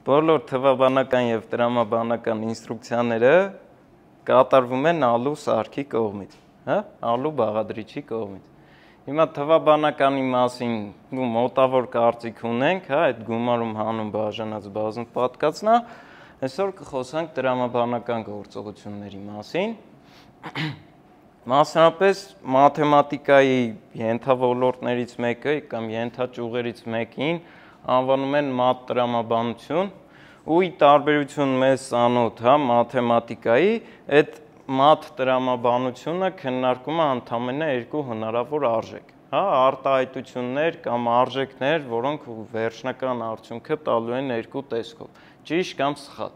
բոլոր թվաբանական և տրամաբանական ինստրուկցիաները կատարվում են ալու սարքի կողմից, ալու բաղադրիչի կողմից։ Հիմա թվաբանականի մասին մոտավոր կարծիք ունենք, այդ գումարում հանուն բաժանած բազում պատկածն է, այսօր կխոսանք տրամաբանական գործողությունների մասին։ Մասնապես մաթեմատիկայի ենթավորորդներից մեկը կամ ենթաճյուղերից մեկին անվանում են մաթ տրամաբանություն, ու ի տարբերություն մեզ ծանոթ մաթեմատիկայի, այդ մաթ տրամաբանությունը քննարկում է ընդամենը երկու հնարավոր արժեք, արտահայտություններ կամ արժեքներ, որոնք վերջնական արդյունքը տալու են երկու տեսքով, ճիշտ կամ սխալ։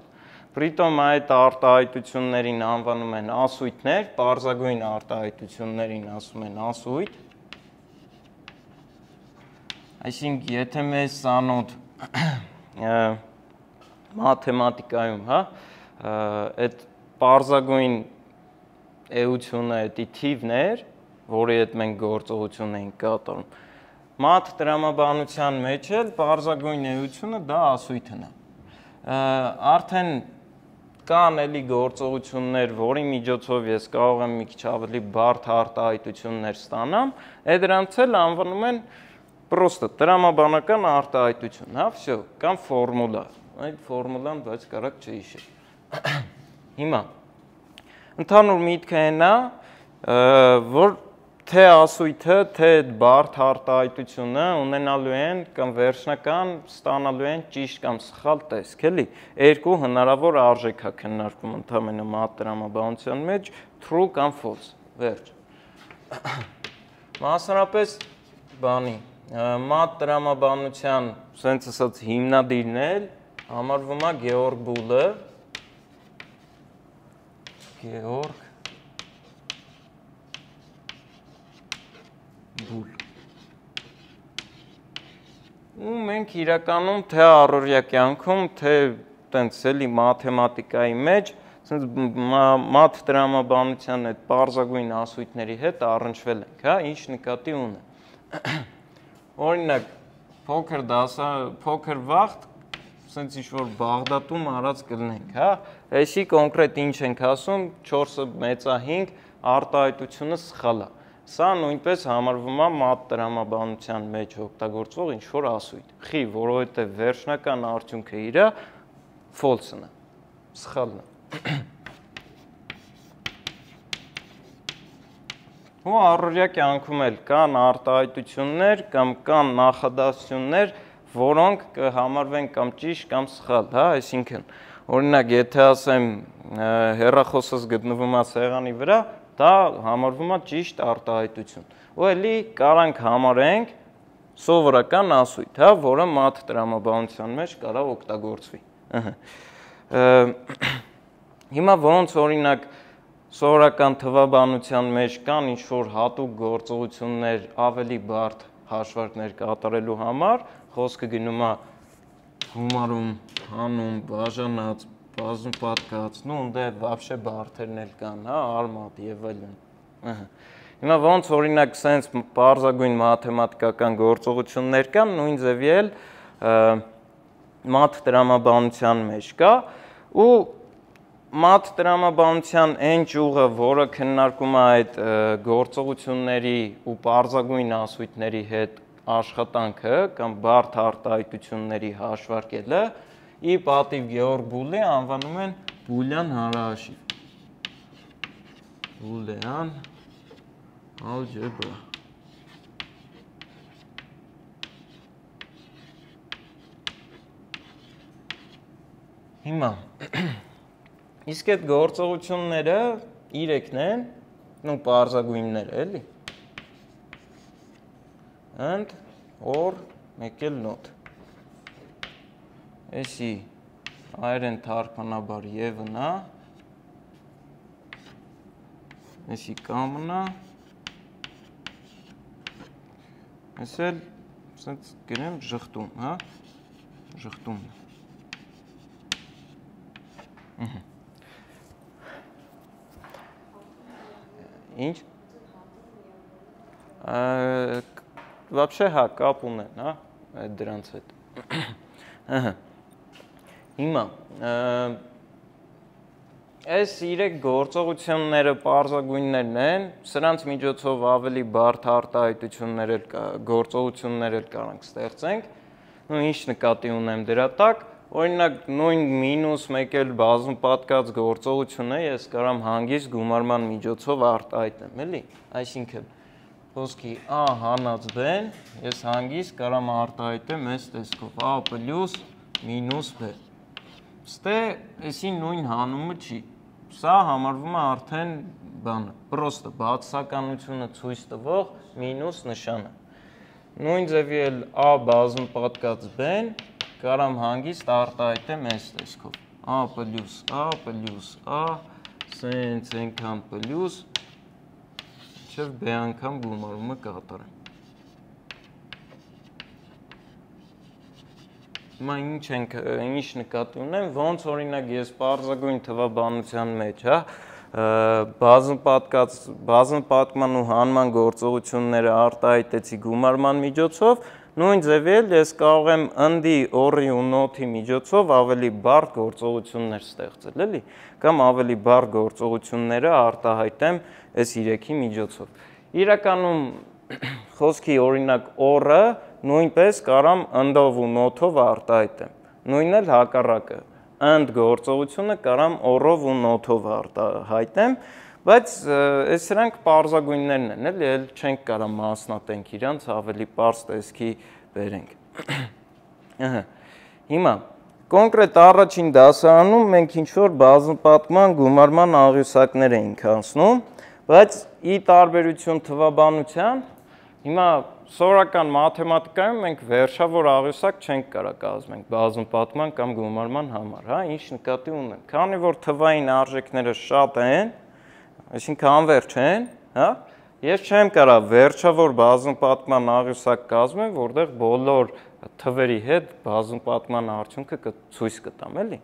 Պրիտոմ այդ արտահայտություններին անվանում են ասույթներ, պարզագույն արտահայտություններին ասում են ասույթ։ Այսինքն, եթե մեզ ծանոթ մաթեմատիկայում, այդ պարզագույն էությունը էդի թիվներ, որի հետ մենք գործողություն ենք կատարում, մաթ տրամաբանության մեջ էլ պարզագույն էությունը դա ասույթն է։ Արդեն կան էլի գործողություններ, որի միջոցով ես կարող եմ մի քիչ ավելի բարդ արտահայտություններ ստանամ, դրանց էլ անվանում են պրոստը տրամաբանական արտահայտություն, վсё, կամ ֆորմուլա, այդ ֆորմուլան բայց կարակ չհիշել։ Հիմա ընդհանուր միտքը այն է, որ թե ասույթը, թե այդ բարդ արտահայտությունը ունենալու են կամ վերջնական ստանալու են ճիշտ կամ սխալ տեսք, էլի։ Երկու հնարավոր արժեք է քննարկում ընդամենը մաթ տրամաբանության մեջ, true կամ false, վերջ։ Մասնապես բանի, մաթ տրամաբանության, սենց ասած հիմնադիրն էլ համարվում է Գեորգ Բուլը, Գեորգ Բուլ։ Ու մենք իրականում թե առօրյա կյանքում, թե տենց էլի մաթեմատիկայի մեջ, մաթ տրամաբանության այդ պարզագույն ասույթների հետ առնչվել ենք, ինչ նկատի ունեմ։ Օրինակ, փոքր վաղտ, սենց ինչ-որ Բաղդադում արած կլնենք, այսի կոնկրետ ինչ ենք ասում, 4-ը մեծա 5 արտահայտությունը սխալ է։ Սա նույնպես համարվում է մաթ տրամաբանության մեջ օգտագործվող ինչ-որ ասույթ։ Խի, որովհետև վերջնական արդյունքը իրա false-ն է, սխալն է։ Ու առօրյա կյանքում էլ կան արտահայտություններ կամ կան նախադասություններ, որոնք կհամարվեն կամ ճիշտ կամ սխալ, այսինքն, օրինակ, եթե ասեմ հեռախոսս գտնվում է սեղանի վրա, դա համարվում է ճիշտ արտահայտություն։ Ու էլի կարանք համարենք սովորական ասույթ, որը մաթ տրամաբանության մեջ կարող օգտագործվի։ Հիմա ոնց օրինակ սովորական թվաբանության մեջ կան ինչ-որ հատուկ գործողություններ ավելի բարդ հաշվարկներ կատարելու համար, խոսքը գնում է գումարում, հանում, բաժանած, բազում պատկած, դե վաբշե բարդերն էլ կան, արմատ եւ այլն։ Հիմա ոնց օրինակ սենց պարզագույն մաթեմատիկական գործողություններ կան, նույն ձևի էլ մաթ տրամաբանության մեջ կա, ու մաթ տրամաբանության այն ճյուղը, որը քննարկում է այդ գործողությունների ու պարզագույն ասույթների հետ աշխատանքը կամ բարդ արտահայտությունների հաշվարկելը, ի պատիվ Գեորգ Բուլի անվանում են բուլյան հանրահաշիվ։ Բուլյան ալջեբրա։ Հիմա, իսկ այդ գործողությունները իրեքն են, պարզագույններ էլի, and, or, մեկ էլ not։ Էսի այրեն թարգմանաբար եվն է, էսի կամն է, ես էլ սենց գնեմ ժխտում, ժխտում։ Ինչ? Вообще, կապ ունեն, դրանց հետ։ Հիմա այս 3 գործողությունները պարզագույններն են, սրանց միջոցով ավելի բարդ արտահայտություններ գործողություններ կարանք ստեղծենք, ու ինչ նկատի ունեմ դրա տակ, օրինակ նույն -1 էլ բազմապատկած գործողություն է, ես կարամ հանգիստ գումարման միջոցով արտահայտեմ, էլի, այսինքն խոսքի A հանած B-ն, ես հանգիստ կարամ արտահայտեմ այս տեսքով A պլյուս մինուս B։ Ստե էսի նույն հանումը չի, սա համարվում է արդեն բանը, պրոստը բացականությունը ցույց տվող մինուս նշանը։ Նույն ձևի էլ A բազմապատկած B-ն կարամ հանգիստ արտահայտեմ այս տեսքով A պլյուս A սենց ենքան պլյուս մինչև B անգամ գումարումը կատարեմ։ Հիմա ինչ նկատի ունեմ, ոնց օրինակ ես պարզագույն թվաբանության մեջ, բազմապատկման ու հանման գործողությունները արտահայտեցի գումարման միջոցով, նույն ձևի էլ ես կարող եմ ընդի, օրի ու նոթի միջոցով ավելի բարդ գործողություններ ստեղծել, էլի, կամ ավելի բարդ գործողությունները արտահայտեմ այս 3-ի միջոցով։ Իրականում խոսքի օրինակ օրը նույնպես կարամ ընդով ու նոթով արտահայտեմ, նույնն էլ հակառակը, ընդ գործողությունը կարամ օրով ու նոթով արտահայտեմ, բայց այս սրանք պարզագույններն են, էլի, էլ չենք կարամ մասնատենք իրանց, ավելի պարզ տեսքի բերենք։ Հիմա, կոնկրետ առաջին դասարանում մենք ինչ-որ բազմապատկման գումարման աղյուսակներ էինք անցնում, բայց ի տարբերություն թվաբանության, հիմա սովորական մաթեմատիկայում մենք վերջավոր աղյուսակ չենք կարող կազմենք բազմապատկման կամ գումարման համար, ինչ նկատի ունեմ, քանի որ թվային արժեքները շատ են, այսինքն անվերջ են, ես չեմ կարող վերջավոր բազմապատկման աղյուսակ կազմեմ, որտեղ բոլոր թվերի հետ բազմապատկման արդյունքը ցույց կտամ, էլի։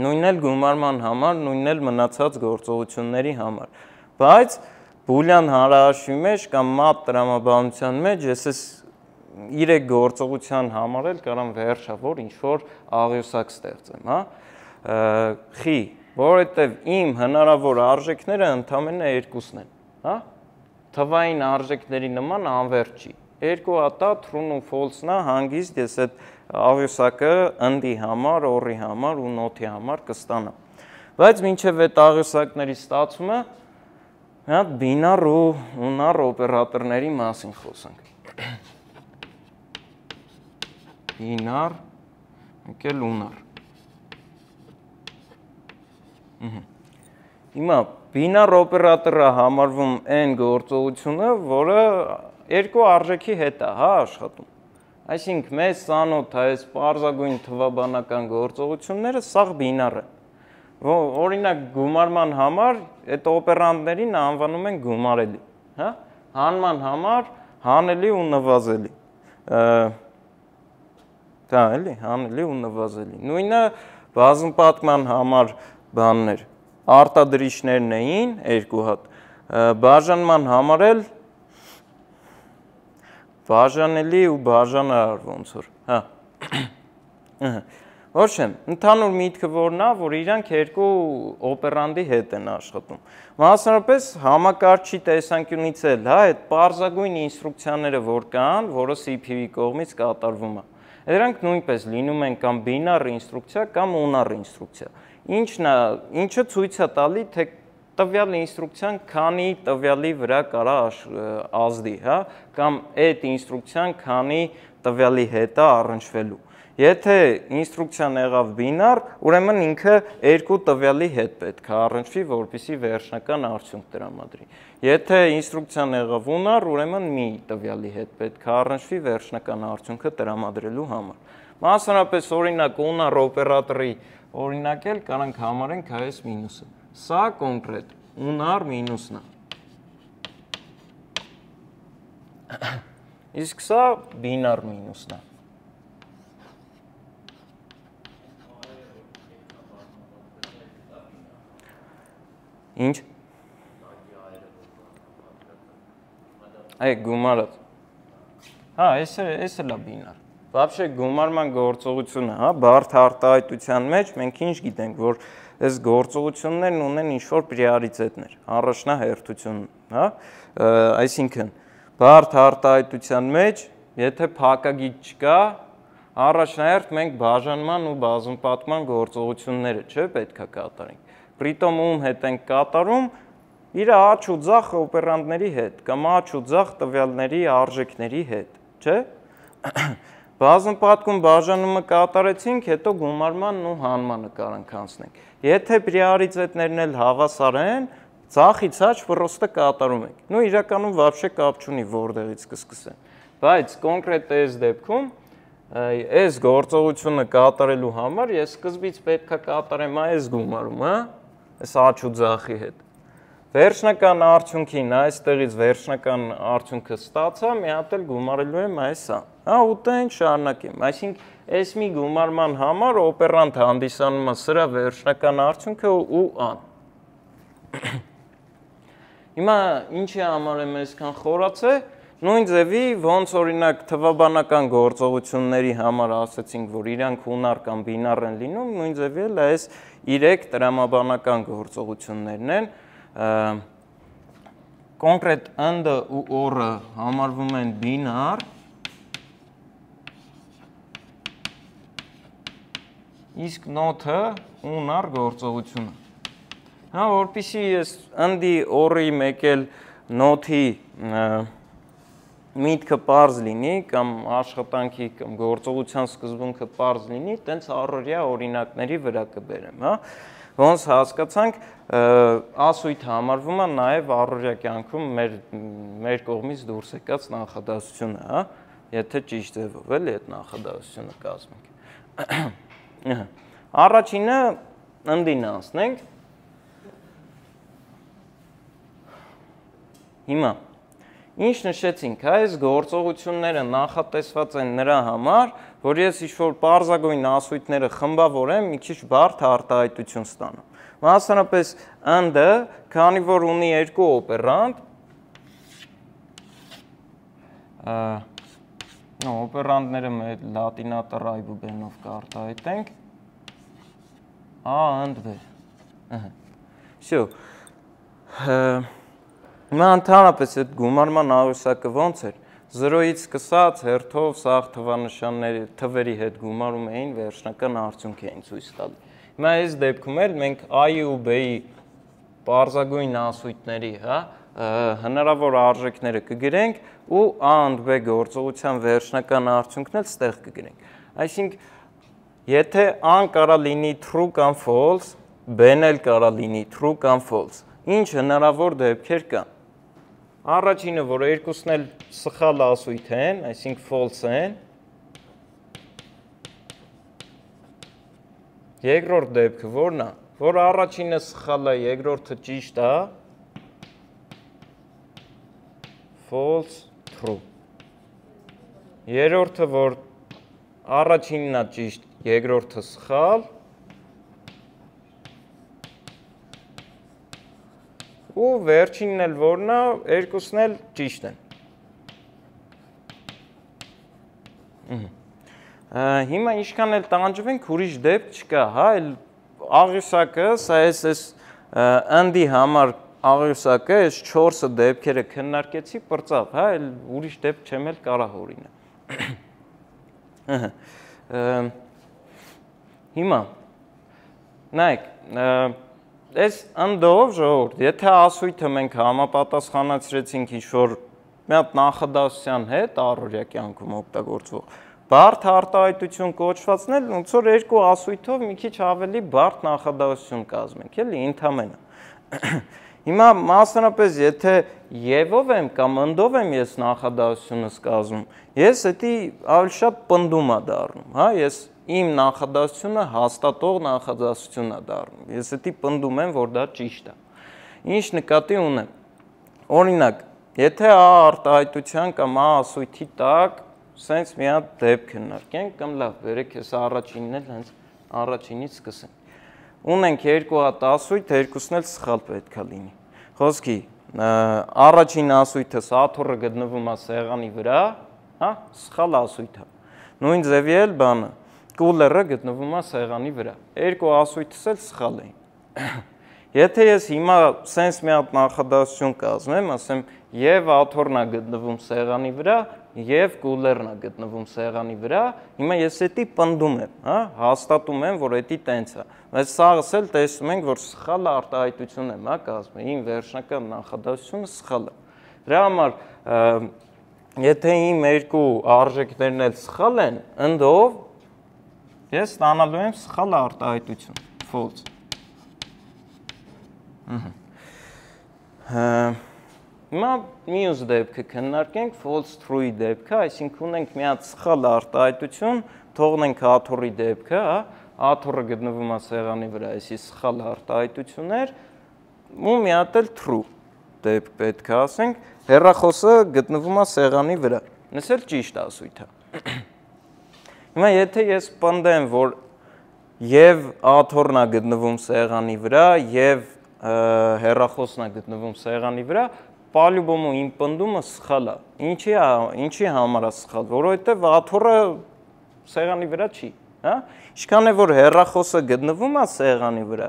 Նույնն էլ գումարման համար, նույնն էլ մնացած գործողությունների համար, բայց բուլյան հարահաշվի մեջ կամ մատ տրամաբանության մեջ ես այս 3 գործողության համար էլ կարամ վերջավոր ինչ-որ աղյուսակ ստեղծեմ, խի, որովհետև իմ հնարավոր արժեքները ընդամենը 2-ն են, թվային արժեքների նման անվերջ չի, 2 հատա true ու false-ն է, հանգիստ ես այդ աղյուսակը ընդի համար, օրի համար ու նոթի համար կստանամ, բայց մինչև այդ աղյուսակների ստացումը բինար ու ունար օպերատորների մասին խոսանք։ Բինար, եկել ունար։ Հիմա բինար օպերատորը համարվում այն գործողությունը, որը 2 արժեքի հետ է աշխատում։ Այսինքն մեզ ծանոթ է այս պարզագույն թվաբանական գործողությունները, սաղ բինար է։ Օրինակ գումարման համար այդ օպերանտներին անվանում են գումարելի, հանման համար հանելի ու նվազելի, էլի, հանելի ու նվազելի, նույնը բազմապատկման համար բաններ, արտադրիչներն էին 2 հատ, բաժանման համար էլ բաժանելի ու բաժանարար ոնց որ, Ոչ չեմ, ընդհանուր միտքը որն է, որ իրանք 2 օպերանտի հետ են աշխատում։ Մասնարարպես համակարգչի տեսանկյունից էլ, այդ պարզագույն ինստրուկցիաները որ կան, որը CPU-ի կողմից կատարվում է։ Դրանք նույնպես լինում են կամ բինար ինստրուկցիա կամ ունար ինստրուկցիա։ Ինչը ցույց է տալի, թե տվյալ ինստրուկցիան քանի տվյալի վրա կարա ազդի, կամ այդ ինստրուկցիան քանի տվյալի հետ է առնչվելու։ Եթե ինստրուկցիան եղավ բինար, ուրեմն ինքը 2 տվյալի հետ պետք է առնչվի, որպեսզի վերջնական արդյունք տրամադրի։ Եթե ինստրուկցիան եղավ ունար, ուրեմն մի տվյալի հետ պետք է առնչվի վերջնական արդյունքը տրամադրելու համար։ Մասնարարպես օրինակ ունար օպերատորի օրինակել կարանք համարենք այս մինուսը։ Սա կոնկրետ ունար մինուսն է։ Իսկ սա բինար մինուսն է։ Ինչ? Այ գումարած։ Այս էլ է բինար։ Вообще գումարման գործողությունը, հա, բարդ արտահայտության մեջ մենք ինչ գիտենք, որ այս գործողություններն ունեն ինչ-որ պրիորիտետներ, առաջնահերթություն, հա, այսինքն բարդ արտահայտության մեջ, եթե փակագիծ չկա, առաջնահերթ մենք բաժանման ու բազմապատկման գործողությունները, չէ, պետք է կատարենք։ Պրիտոմ ում հետ ենք կատարում, իր աճ ու ձախ օպերանտների հետ, կամ աճ ու ձախ տվյալների արժեքների հետ, չէ։ Բազմապատկում բաժանումը կատարեցինք, հետո գումարմանն ու հանմանը կարանք անցնենք։ Եթե պրիորիտետներն էլ հավասար են, ձախից աճ պրոստը կատարում ենք։ Նու իրականում вообще կապ չունի որտեղից կսկսեն։ Բայց կոնկրետ այս դեպքում այս գործողությունը կատարելու համար ես սկզբից պետք է կատարեմ այս գումարումը, այս աճ ու ձախի հետ։ Վերջնական արդյունքին այստեղից վերջնական արդյունքը ստացա, մի հատ էլ գումարելու եմ այսա։ Հա, ուտեն շարունակեմ։ Այսինքն այս մի գումարման համար օպերանտ հանդիսանում է սրա վերջնական արդյունքը ու ան։ Հիմա ինչի համար եմ այսքան խորացե, նույն ձևի ոնց օրինակ թվաբանական գործողությունների համար ասացինք, որ իրանք ունար կամ բինար են լինում, նույն ձևի էլ այս 3 տրամաբանական գործողություններն են, կոնկրետ ընդը ու օրը համարվում են բինար, իսկ նոթը ունար գործողությունը։ Հա, որպեսզի ես ընդի օրի մեկ էլ նոթի միտքը պարզ լինի, կամ աշխատանքի կամ գործողության սկզբունքը պարզ լինի, տենց առօրյա օրինակների վրա կբերեմ, հա։ Ոնց հասկացանք, ասույթ համարվում է նաև առօրյա կյանքում մեր կողմից դուրս եկած նախադասությունը, հա, եթե ճիշտ ձևով էլի այդ նախադասությունը կազմենք։ Առաջինը ընդին անցնենք։ Հիմա ինչ նշեցինք, այս գործողությունները նախատեսված են նրա համար, որ ես ինչ-որ պարզագույն ասույթները խմբավորեմ, մի քիչ բարդ արտահայտություն ստանամ։ Մասնապես ընդը, քանի որ ունի երկու օպերանտ, օպերանտները մեր լատինատը ռայբուբենով կարտահայտենք, A and B։ Всё։ Հիմա ընդհանրապես այդ գումարման աղյուսակը ոնց էր, 0-ից սկսած հերթով սաղ թվանշանների թվերի հետ գումարում էին, վերջնական արդյունք էին ցույց տալի։ Հիմա այս դեպքում էլ մենք A-ի ու B-ի պարզագույն ասույթների, հա, հնարավոր արժեքները կգրենք ու A and B գործողության վերջնական արդյունքն էլ ստեղ կգրենք։ Այսինքն, եթե A-ն կարա լինի true կամ false, B-ն էլ կարա լինի true կամ false, ինչ հնարավոր դեպքեր կան։ Առաջինը, որ երկուսն էլ սխալ ասույթ են, այսինքն false են։ Երկրորդ դեպքը որն է, որ առաջինը սխալ է, երկրորդը ճիշտ է, false, true։ Երրորդը, որ առաջինն է ճիշտ, երկրորդը սխալ, ու վերջինն էլ որն է, երկուսն էլ ճիշտ են։ Հիմա ինչքան էլ տանջվենք, ուրիշ դեպք չկա, հա, աղյուսակը, սա այս ընդի համար աղյուսակը, այս 4 դեպքերը քննարկեցի, պրծավ, հա, ուրիշ դեպք չեմ էլ կարա հորինը։ Հիմա, նայեք, այս ընդով ժողովուրդ, եթե ասույթը մենք համապատասխանացրեցինք ինչ-որ մի հատ նախադասության հետ առօրյա կյանքում օգտագործվող, բարդ արտահայտություն կոչվածն էլ ոնց որ երկու ասույթով մի քիչ ավելի բարդ նախադասություն կազմենք, էլի ընդհանրապես։ Հիմա մասնապես եթե եվով եմ կամ ընդով եմ ես նախադասությունս կազմում, ես դա ավելի շատ պնդում է դառնում, հա, ես իմ նախադասությունը հաստատող նախադասություն է դառնում։ Ես դա պնդում եմ, որ դա ճիշտ է։ Ինչ նկատի ունեմ։ Օրինակ, եթե A արտահայտության կամ A ասույթի տակ սենց մի հատ դեպք քննարկենք, կամ լավ, բերեք ես առաջինն էլ հենց առաջինից սկսենք։ Ունենք երկու հատ ասույթ, երկուսն էլ սխալ պետք է լինի։ Խոսքի, առաջին ասույթը սաթուռը գտնվում է սեղանի վրա, հա, սխալ ասույթ է։ Նույն ձևի էլ բանը, կուլերը գտնվում է սեղանի վրա։ Երկու ասույթս էլ սխալ էին։ Եթե ես հիմա սենց մի հատ նախադասություն կազմեմ, ասեմ, եւ աթոռն է գտնվում սեղանի վրա, եւ կուլերն է գտնվում սեղանի վրա, հիմա ես էդի պնդում եմ, հա, հաստատում եմ, որ էդի տենց է։ Բայց սաղս էլ տեսնում ենք, որ սխալ արտահայտություն եմ, հա, կազմել, իմ վերջնական նախադասությունը սխալ է։ Դրա համար, եթե իմ երկու արժեքներն էլ սխալ են, ընդով ես ստանալու եմ սխալ արտահայտություն, false։ Հիմա մյուս դեպքը քննարկենք false true-ի դեպքը, այսինքն ունենք մի հատ սխալ արտահայտություն, թողնենք աթոռի դեպքը, հա, աթոռը գտնվում է սեղանի վրա, այսի սխալ արտահայտություններ, ու մի հատ էլ true դեպք պետք է ասենք, հեռախոսը գտնվում է սեղանի վրա, նս էլ ճիշտ ասույթ է։ Հիմա եթե ես պնդեմ, որ եւ աթոռն է գտնվում սեղանի վրա, եւ հեռախոսն է գտնվում սեղանի վրա, պալյուբոմու իմ պնդումը սխալ է։ Ինչի համար է սխալ, որովհետև աթոռը սեղանի վրա չի, հա? Ինչքան է որ հեռախոսը գտնվում է սեղանի վրա,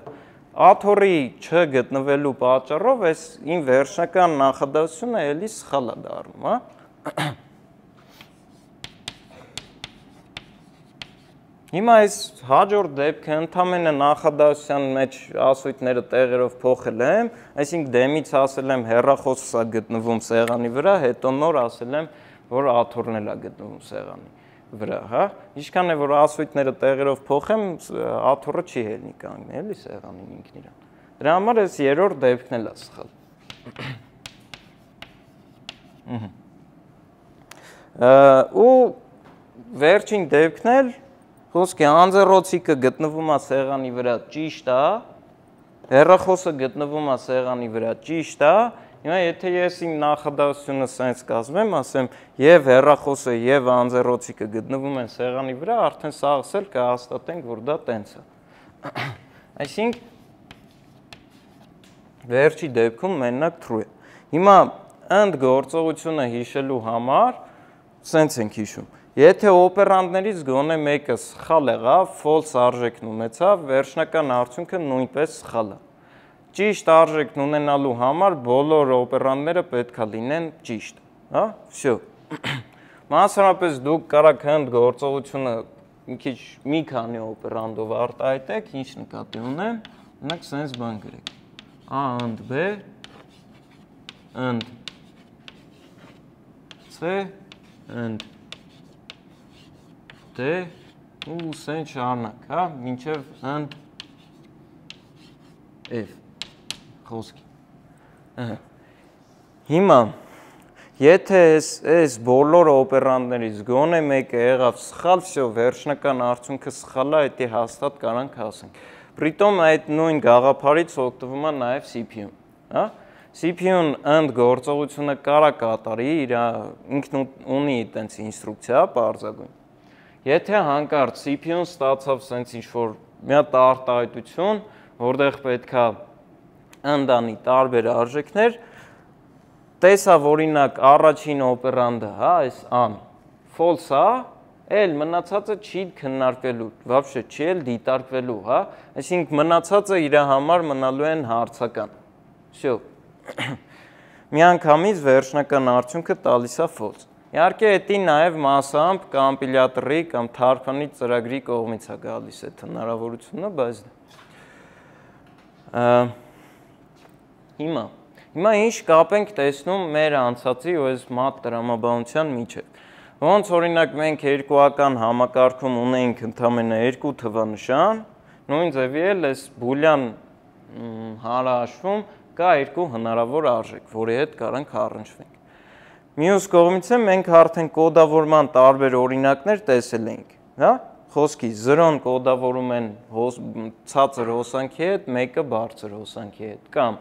աթոռի չգտնվելու պատճառով այս իմ վերջնական նախադասությունը էլի սխալ է դառնում, հա? Հիմա այս հաջորդ դեպքը ընդամենը նախադասության մեջ ասույթները տեղերով փոխել եմ, այսինքն դեմից ասել եմ հեռախոսը գտնվում սեղանի վրա, հետո նոր ասել եմ, որ աթոռն է գտնվում սեղանի վրա, հա? Ինչքան է որ ասույթները տեղերով փոխեմ, աթոռը չի ելնի կանգնել, էլի սեղանին ինքն իրան։ Դրա համար այս երրորդ դեպքն էլ է սխալ։ Ու վերջին դեպքն էլ խոսքի անձեռոցիկը գտնվում է սեղանի վրա ճիշտ է, հեռախոսը գտնվում է սեղանի վրա ճիշտ է, հիմա եթե ես իմ նախադասությունը սենց կազմեմ, ասեմ եւ հեռախոսը եւ անձեռոցիկը գտնվում են սեղանի վրա, արդեն սաղս էլ կհաստատենք, որ դա տենց է։ Այսինքն վերջի դեպքում մենակ true է։ Հիմա ընդգործողությունը հիշելու համար սենց ենք հիշում։ Եթե օպերանտներից գոնե մեկը սխալ եղավ, false արժեքն ունեցավ, վերջնական արդյունքը նույնպես սխալ է։ Ճիշտ արժեքն ունենալու համար բոլոր օպերանտները պետք է լինեն ճիշտ, հա? Всё։ Մասնավորապես դուք կարաք ընդգործողությունը մի քանի օպերանտով արտահայտեք, ինչ նկատի ունեմ, ունեք սենց բան գրեք։ A ընդ B ընդ C ընդ D ու սեն շարնակ, հա, մինչև ընդ F խոսքի։ Հիմա, եթե այս բոլոր օպերանտներից գոնե մեկը եղավ սխալ, всё, վերջնական արդյունքը սխալ է, դա հաստատ կարանք ասենք։ Պրիտոմ այդ նույն գաղափարից օգտվում է նաև CPU-ն, հա? CPU-ն ընդգործողությունը կարա կատարի, ինքն ունի այդպես ինստրուկցիա, պարզագույն։ Եթե հանկարծ CPU-ն ստացավ սենց ինչ-որ մի հատ արտահայտություն, որտեղ պետք է ընդանի տարբեր արժեքներ, տեսավ օրինակ առաջին օպերանտը, հա, այս A-ն, false է, էլ մնացածը չի քննարկվելու, вообще չի էլ դիտարկվելու, հա, այսինքն մնացածը իր համար մնալու են հարցական։ Всё։ Միանգամից վերջնական արդյունքը տալիս է false։ Իհարկե, դա նաև մասամբ կոմպիլյատորի կամ թարգմանիչ ծրագրի կողմից է գալիս այդ հնարավորությունը, բայց հիմա ինչ կապ ենք տեսնում մեր անցածի ու այս մատ տրամաբանության միջև։ Ոնց օրինակ մենք երկուական համակարգում ունենք ընդամենը երկու թվանշան, նույն ձևի էլ այս բուլյան հարահաշվում կա երկու հնարավոր արժեք, որի հետ կարանք առնչվենք։ Մյուս կողմից մենք արդեն կոդավորման տարբեր օրինակներ տեսել ենք, հա? Խոսքի 0-ն կոդավորում են ցածր հոսանքի հետ, 1-ը բարձր հոսանքի հետ, կամ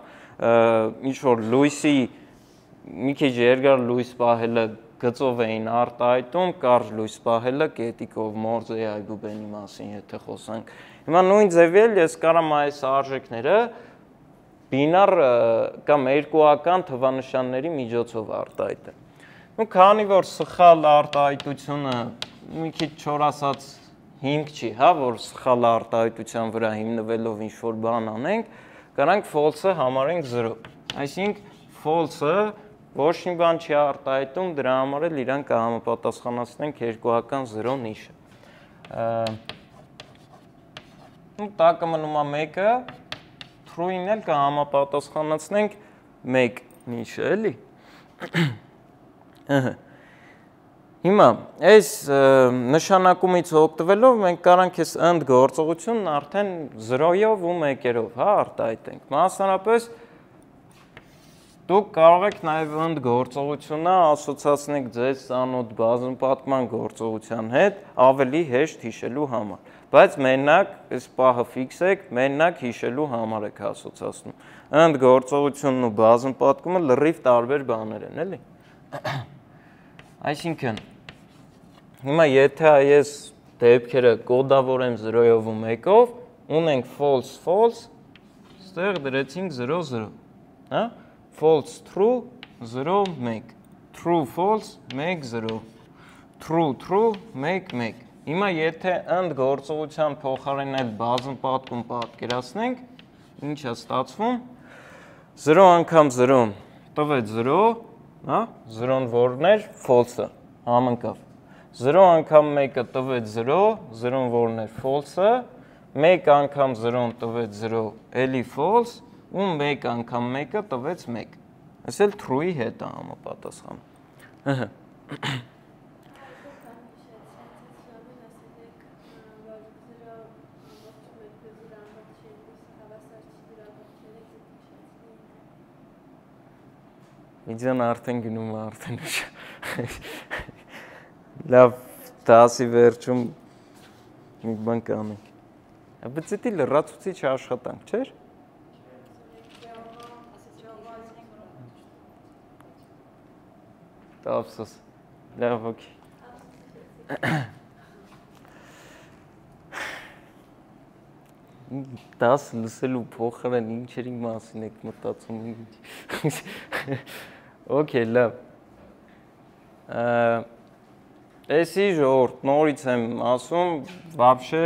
ինչ-որ լույսի մի քիչ երկար լույս պահելը գծով էին արտահայտում, կարճ լույս պահելը կետիկով Մորզեի այբուբենի մասին, եթե խոսանք։ Հիմա նույն ձևի էլ ես կարամ այս արժեքները բինար կամ երկուական թվանշանների միջոցով արտահայտեմ։ Ու քանի որ սխալ արտահայտությունը մի քիչ չոր ասած հիմք չի, հա, որ սխալ արտահայտության վրա հիմնվելով ինչ-որ բան անենք, կարանք false-ը համարենք 0։ Այսինքն false-ը ոչ մի բան չի արտահայտում, դրա համար էլ իրան կհամապատասխանացնենք երկուական 0 նիշը։ Տակը մնում է 1-ը, true-ին էլ կհամապատասխանացնենք 1 նիշը, էլի։ Հիմա, այս նշանակումից օգտվելով մենք կարանք այս and գործողությունն արդեն 0-ով ու 1-երով, հա, արտահայտենք։ Մասնարապես դուք կարող եք նաև and գործողությունը ասոցացնեք ձեզ ծանոթ բազմապատկման գործողության հետ ավելի հեշտ հիշելու համար։ Բայց մենակ այս պահը ֆիքսեք, մենակ հիշելու համար եք ասոցացնում։ And գործողությունն ու բազմապատկումը լրիվ տարբեր բաներ են, էլի։ Այսինքն, հիմա եթե այս դեպքերը կոդավորեմ 0-ով ու 1-ով, ունենք false, false, ստեղ դրեցինք 0, 0, հա? False, true, 0, 1, true, false, 1, 0, true, true, 1, 1։ Հիմա եթե and գործողության փոխարեն այդ բազմապատկում պատկերացնենք, ինչ է ստացվում, 0 անգամ 0-ն տվեց 0, հա, 0-ն որն էր, false-ը, համընկավ։ 0 անգամ 1-ը տվեց 0, 0-ն որն էր, false-ը, 1 անգամ 0-ն տվեց 0, էլի false, ու 1 անգամ 1-ը տվեց 1։ Այս էլ true-ի հետ է համապատասխանում։ Իջան արդեն գնում է արդեն ուշ։ Լավ, դասի վերջում մի բան կանենք։ Բայց դա լրացուցիչ աշխատանք, չէր։ Ափսոս։ Լավ, օքեյ։ Դաս լսելու փոխարեն ինչերի մասին եք մտածում։ Okay, լավ։ Էսի ժողովուրդ, նորից եմ ասում, вообще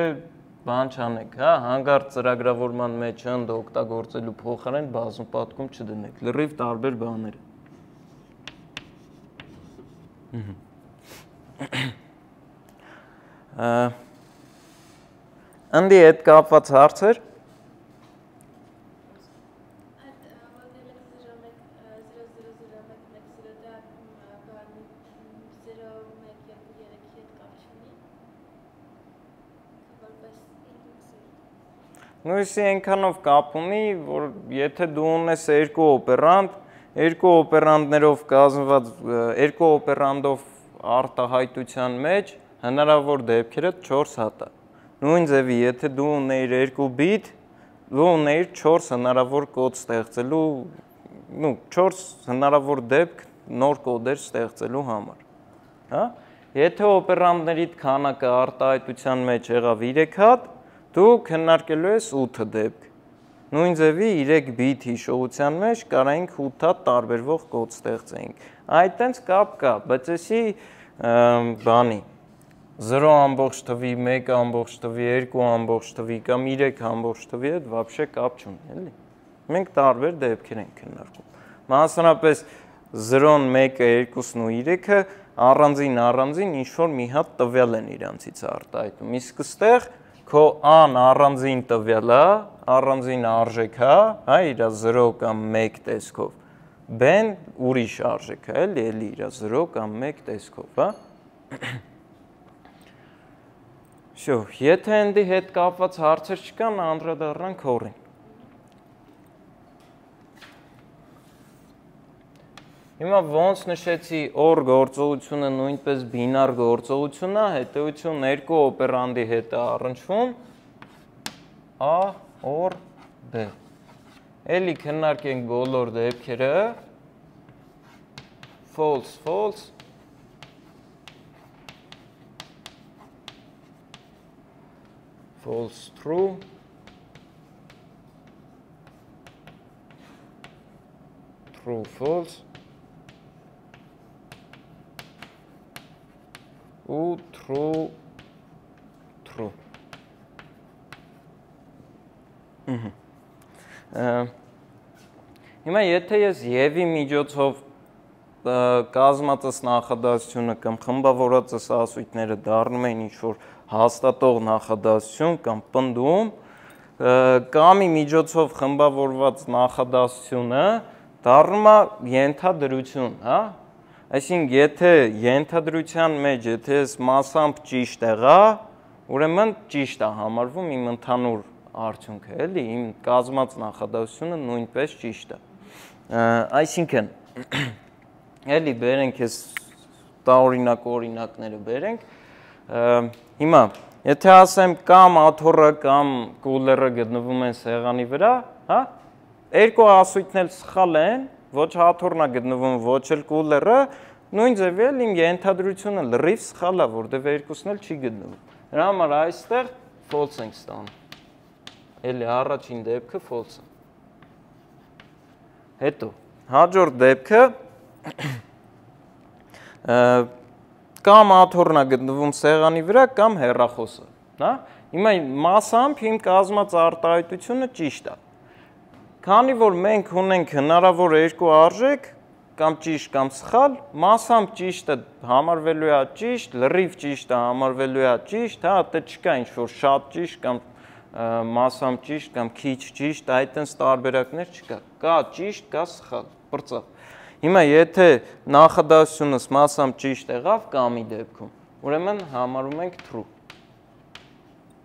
բան չանեք, հա, հանգարտ ծրագրավորման մեջ ընդ օգտագործելու փոխարեն բազմապատկում չդնեք, լրիվ տարբեր բաներ։ Անդի հետ կապված հարցեր։ Նույնիսկ այնքանով կապ ունի, որ եթե դու ունես երկու օպերանդ, երկու օպերանդներով կազմված, երկու օպերանդով արտահայտության մեջ հնարավոր դեպքերը 4 հատ է։ Նույն ձևի, եթե դու ունեիր 2 բիտ, դու ունեիր 4 հնարավոր կոդ ստեղծելու, 4 հնարավոր դեպք նոր կոդեր ստեղծելու համար։ Հա? Եթե օպերանդներիդ քանակը արտահայտության մեջ եղավ 3 հատ, դու քննարկելու ես 8 դեպք։ Նույն ձևի 3 բիտ հիշողության մեջ կարայինք 8 հատ տարբերվող կոդ ստեղծեինք։ Այդ տենց կապ կա, բայց էսի բանի 0 ամբողջ թվի, 1 ամբողջ թվի, 2 ամբողջ թվի կամ 3 ամբողջ թվի հետ вообще կապ չունի, էլի։ Մենք տարբեր դեպքեր ենք քննարկում։ Մասնավորապես 0-ն, 1-ը, 2-ն ու 3-ը առանձին ինչ-որ մի հատ տվյալ են իրանցից արտահայտում։ Իսկ այստեղ քո ան առանձին տվյալ է, առանձին արժեք է, հա, իր 0 կամ 1 տեսքով։ B-ն ուրիշ արժեք է, էլի իր 0 կամ 1 տեսքով, հա։ Շո, եթե ընդի հետ կապված հարցեր չկան, անդրադառնանք հորին։ Հիմա ոնց նշեցի OR գործողությունը նույնպես բինար գործողություն է, հետևություն երկու օպերանդի հետ է առնչվում A, OR, B։ Էլի քննարկենք բոլոր դեպքերը, false, false, false, true, true, false, ու true Հիմա եթե ես եւ-ի միջոցով կազմածս նախադասությունը կամ խմբավորածս ասույթները դառնում են ինչ-որ հաստատող նախադասություն կամ պնդում, կամի միջոցով խմբավորված նախադասությունը դառնում է ենթադրություն, հա? Այսինքն, եթե ենթադրության մեջ, եթե ես մասամբ ճիշտ եղա, ուրեմն ճիշտ է համարվում իմ ընդհանուր արդյունքը, էլի, իմ կազմած նախադասությունը նույնպես ճիշտ է։ Այսինքն, էլի բերենք ես օրինակները բերենք, հիմա, եթե ասեմ կամ աթոռը կամ կուլերը գտնվում են սեղանի վրա, հա, երկու ասույթն էլ սխալ են, ոչ աթոռն է գտնվում, ոչ էլ կուլերը, նույն ձևի էլ իմ ենթադրությունը լրիվ սխալ է, որտեղ երկուսն էլ չի գտնվում։ Դրա համար այստեղ false ենք ստանում։ Էլի առաջին դեպքը false է։ Հետո, հաջորդ դեպքը կամ աթոռն է գտնվում սեղանի վրա կամ հեռախոսը, հա? Հիմա մասամբ իմ կազմած արտահայտությունը ճիշտ է։ Քանի որ մենք ունենք հնարավոր երկու արժեք, կամ ճիշտ կամ սխալ, մասամբ ճիշտը համարվելու է ճիշտ, լրիվ ճիշտը համարվելու է ճիշտ, հա, դե չկա ինչ-որ շատ ճիշտ կամ մասամբ ճիշտ կամ քիչ ճիշտ, այդտենց տարբերակներ չկա։ Կա ճիշտ, կա սխալ, բրծավ։ Հիմա եթե նախադասությունս մասամբ ճիշտ եղավ կամի դեպքում, ուրեմն համարում ենք true։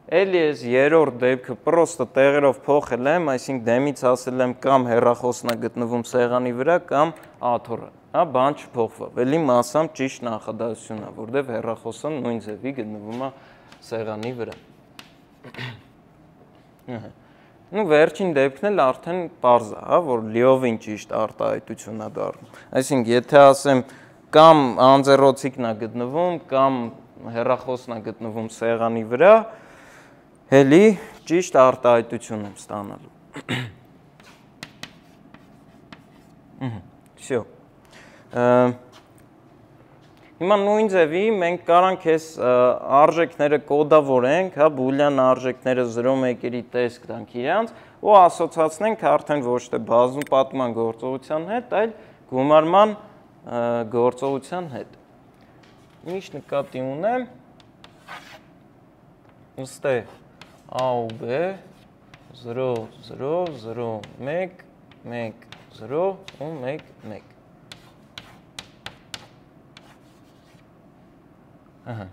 Էլի ես երրորդ դեպքը պրոստը տեղերով փոխել եմ, այսինքն դեմից ասել եմ կամ հեռախոսն է գտնվում սեղանի վրա կամ աթոռը, հա, բան չփոխվավ։ Էլի մասամբ ճիշտ նախադասություն է, որտեղ հեռախոսը նույն ձևի գտնվում է սեղանի վրա։ Ու վերջին դեպքն էլ արդեն պարզ է, հա, որ լիովին ճիշտ արտահայտություն է դառնում։ Այսինքն, եթե ասեմ կամ անձեռոցիկն է գտնվում, կամ հեռախոսն է գտնվում սեղանի վրա, հելի ճիշտ արտահայտություն եմ ստանալու։ Всё։ Հիմա նույն ձևի մենք կարանք այս արժեքները կոդավորենք, հա, բուլյան արժեքները 0-1-երի տեսք տանք իրանց ու ասոցացնենք արդեն ոչ թե բազում պատման գործողության հետ, այլ գումարման գործողության հետ։ Ինչ նկատի ունեմ, ըստ է A ու B 0 0 0 1 1 0 ու 1 1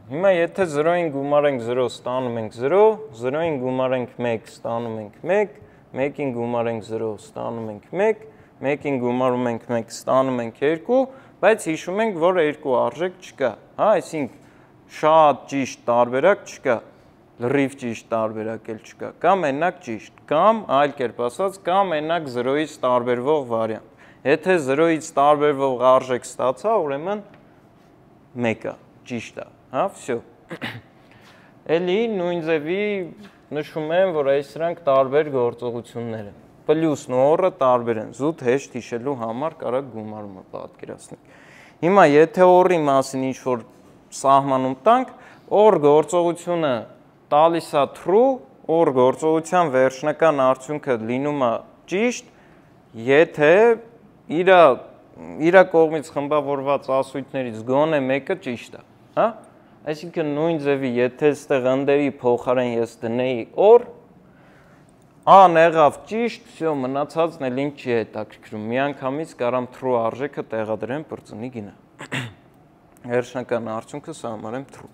Հիմա եթե 0-ին գումարենք 0 ստանում ենք 0, 0-ին գումարենք 1 ստանում ենք 1, 1-ին գումարենք 0 ստանում ենք 1, 1-ին գումարում ենք 1 ստանում ենք 2, բայց հիշում ենք, որ երկու արժեք չկա, հա, այսինքն շատ ճիշտ տարբերակ չկա, լրիվ ճիշտ տարբերակ էլ չկա, կամ մենակ ճիշտ, կամ այլ կերպ ասած, կամ մենակ 0-ից տարբերվող վարիանտ։ Եթե 0-ից տարբերվող արժեք ստացա, ուրեմն 1 է, ճիշտ է, հա, всё։ Էլի նույն ձևի նշում եմ, որ այս սրանք տարբեր գործողություններ են։ Պլյուսն ու օրը տարբեր են, զուտ հեշտ հիշելու համար կարակ գումարումը պատկերացնենք։ Հիմա եթե օրի մասին ինչ-որ սահմանում տանք, օր գործողությունը տալիս է true, օր գործողության վերջնական արդյունքը լինում է ճիշտ, եթե իր կողմից խմբավորված ասույթներից գոնե մեկը ճիշտ է, հա? Այսինքն նույն ձևի, եթե այստեղ ընդերի փոխարեն ես դնեի օր, A-ն եղավ ճիշտ, всё, մնացածն էլ ինձ չի հետաքրքրում։ Միանգամից կարամ true արժեքը տեղադրեմ բրծնի գինը։ Վերջնական արդյունքս համարեմ true։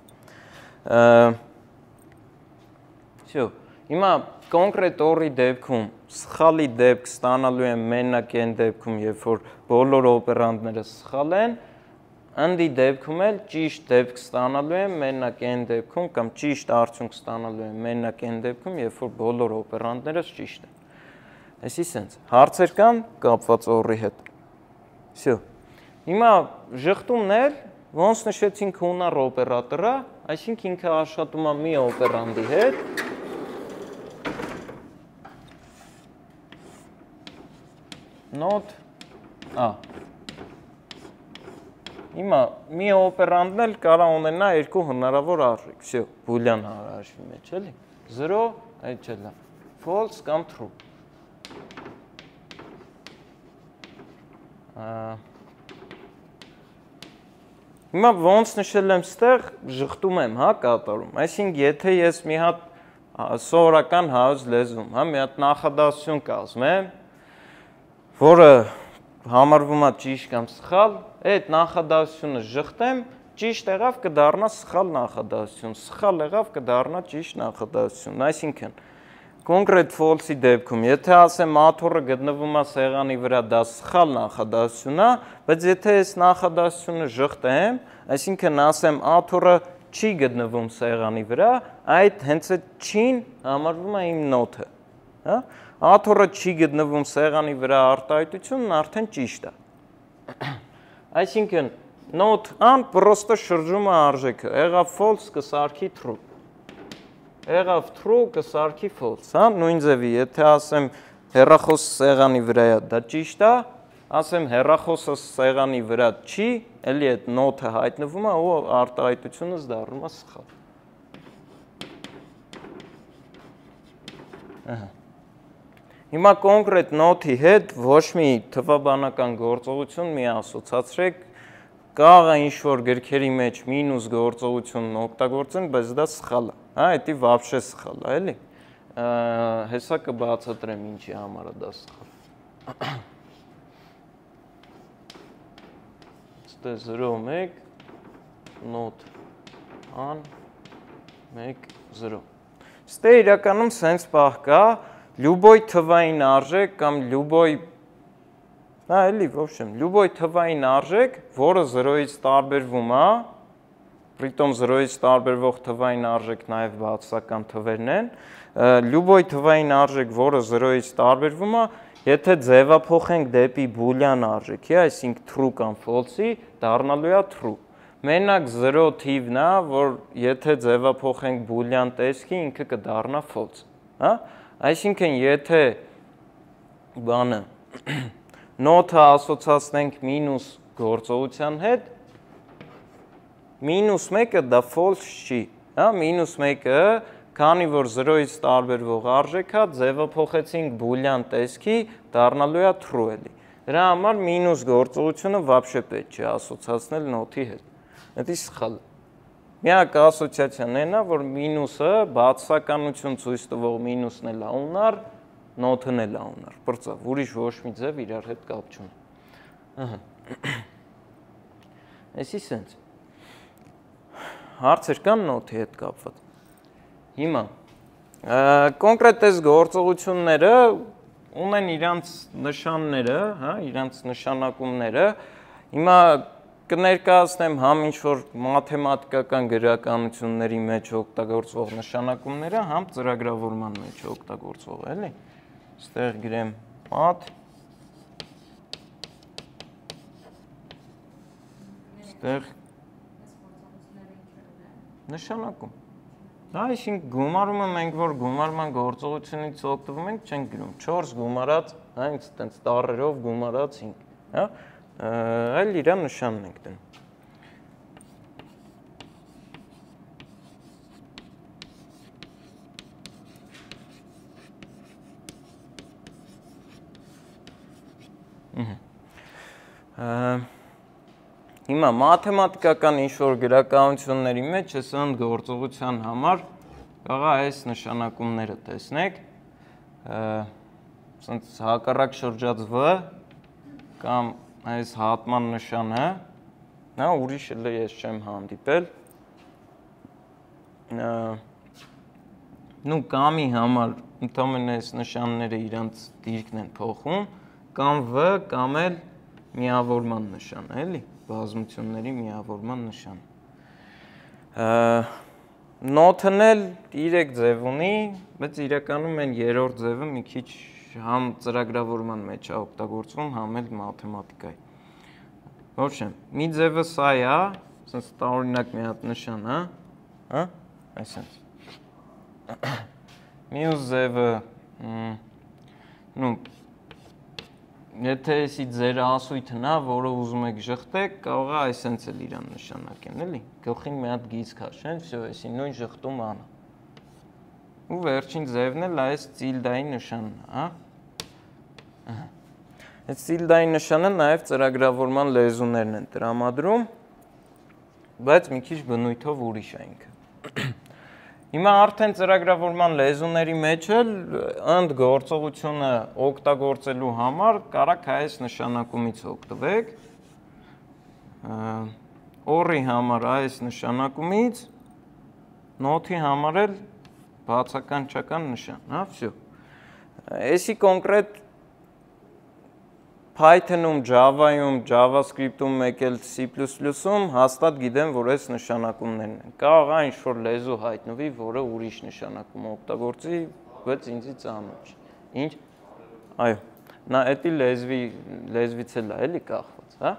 Всё։ Հիմա կոնկրետ օրի դեպքում սխալի դեպք ստանալու եմ մենակ այն դեպքում, երբ որ բոլոր օպերանտները սխալ են, ընդի դեպքում էլ ճիշտ դեպք ստանալու եմ մենակ այն դեպքում կամ ճիշտ արդյունք ստանալու եմ մենակ այն դեպքում, երբ որ բոլոր օպերանտները ճիշտ են։ Այսի սենց, հարցեր կան կապված օրի հետ։ Всё։ Հիմա ժխտումներ, ոնց նշեցինք հունար օպերատորը, այսինքն ինքը աշխատում է մի օպերանտի հետ։ Not A։ Հիմա մի օպերանտն էլ կարող ունենա երկու հնարավոր արժեք, всё, բուլյան հաշվի մեջ, էլի։ 0, այդ չէ լավ։ False կամ true։ Հիմա ոնց նշել եմ ստեղ, ժխտում եմ, հա, կատարում։ Այսինքն, եթե ես մի հատ սովորական հայոց լեզվում, հա, մի հատ նախադասություն կազմեմ, որը համարվում է ճիշտ կամ սխալ, այդ նախադասությունը ժխտեմ, ճիշտ եղավ կդառնա սխալ նախադասություն, սխալ եղավ կդառնա ճիշտ նախադասություն։ Այսինքն, կոնկրետ false-ի դեպքում, եթե ասեմ աթոռը գտնվում է սեղանի վրա, դա սխալ նախադասություն է, բայց եթե այս նախադասությունը ժխտեմ, այսինքն ասեմ աթոռը չի գտնվում սեղանի վրա, այդ հենց այդ չին համարվում է իմ նոթը, հա? Աթոռը չի գտնվում սեղանի վրա արտահայտությունն արդեն ճիշտ է։ Այսինքն նոթ-ան պրոստը շրջում է արժեքը, եղավ false կսարքի true, եղավ true կսարքի false, հա, նույն ձևի, եթե ասեմ հեռախոսը սեղանի վրա է, դա ճիշտ է, ասեմ հեռախոսը սեղանի վրա չի, էլի այդ նոթը հայտնվում է ու արտահայտությունս դառնում է սխալ։ Հիմա կոնկրետ նոթի հետ ոչ մի թվաբանական գործողություն մի ասոցացրեք, կարող է ինչ-որ գրքերի մեջ մինուս գործողությունն օգտագործեն, բայց դա սխալ է, հա, դա вообще սխալ է, էլի։ Հեսա կբացատրեմ ինչի համար է դա սխալ։ Ստե 0-1 նոթ ան 1-0։ Ստե իրականում սենց պահ կա, լյուբոյ թվային արժեք կամ լյուբոյ, հա, էլի, ոբշեմ, լյուբոյ թվային արժեք, որը 0-ից տարբերվում է, պրիտոմ 0-ից տարբերվող թվային արժեք նաև բացասական թվերն են, լյուբոյ թվային արժեք, որը 0-ից տարբերվում է, եթե ձևափոխենք դեպի բուլյան արժեքի, այսինքն true կամ false-ի, դառնալու է true։ Մենակ 0 թիվն է, որ եթե ձևափոխենք բուլյան տեսքի, ինքը կդառնա false, հա? Այսինքն, եթե բանը նոթը ասոցացնենք մինուս գործողության հետ, մինուս 1-ը դա false չի, հա? Մինուս 1-ը քանի որ 0-ից տարբերվող արժեք է, ձևափոխեցինք բուլյան տեսքի, դառնալու է true էլի։ Դրա համար մինուս գործողությունը вообще պետք չէ ասոցացնել նոթի հետ։ Դա սխալ է։ Միակ ասոցիացիան այն է, որ մինուսը բացասականություն ցույց տվող մինուսն էլ է ունար, նոթն էլ է ունար։ Բրծավ, ուրիշ ոչ մի ձև իրար հետ կապ չունի։ Ահա։ Էսի սենց։ Հարցեր կան նոթի հետ կապված։ Հիմա, կոնկրետ այս գործողությունները ունեն իրանց նշանները, հա, իրանց նշանակումները, հիմա կներկայացնեմ համ ինչ-որ մաթեմատիկական գրականությունների մեջ օգտագործվող նշանակումները, համ ծրագրավորման մեջ օգտագործվող, էլի, ստեղ գրեմ մաթ, ստեղ նշանակում։ Դա այսինքն գումարումը մենք որ գումարման գործողությունից օգտվում ենք, չենք գրում 4 գումարած, հա, ինձ տառերով գումարած 5, հա, այլ իրա նշանն ենք դնում։ Հիմա մաթեմատիկական ինչ-որ գրականությունների մեջ այս ընդ գործողության համար կարող է այս նշանակումները տեսնեք, սենց հակառակ շրջած V կամ այս հատման նշանը, նա ուրիշ էլ ես չեմ հանդիպել, նու կամի համար ընդամենը այս նշանները իրանց դիրքն են փոխում, կամ V կամ էլ միավորման նշան, էլի, բազմությունների միավորման նշան։ Նոթն էլ 3 ձև ունի, բայց իրականում են երրորդ ձևը մի քիչ համ ծրագրավորման մեջ է օգտագործվում, համ էլ մաթեմատիկայի։ Ոբշեմ, մի ձևը սա է, ասենց տարօրինակ մի հատ նշան, հա, այսպես։ Մյուս ձևը, նու Եթե էսի ձեր ասույթն է, որը ուզում եք ժխտեք, կարող է այսենց էլ իրան նշանակեն, էլի։ Գլխին մի հատ գիծ քաշեն, всё, էսի նույն ժխտում անը։ Ու վերջին ձևն էլ այս տիլդայի նշանն է, հա։ Այս տիլդայի նշանը նաև ծրագրավորման լեզուներն են տրամադրում, բայց մի քիչ բնույթով ուրիշ է ինքը։ Հիմա արդեն ծրագրավորման լեզուների մեջ էլ ընդ գործողությունը օգտագործելու համար կարաք այս նշանակումից օգտվեք։ Or-ի համար այս նշանակումից, not-ի համար էլ բացականչական նշան, հա, всё։ Էսի կոնկրետ Python-ում, Java-ում, JavaScript-ում, մեկ էլ C++-ում հաստատ գիտեմ, որ այս նշանակումներն են։ Կարող է ինչ-որ լեզու հայտնվի, որը ուրիշ նշանակում օգտագործի, բայց ինձի ծանոթ չի։ Ինչ։ Այո, նա էդի լեզվից էլ է, էլի կախված, հա։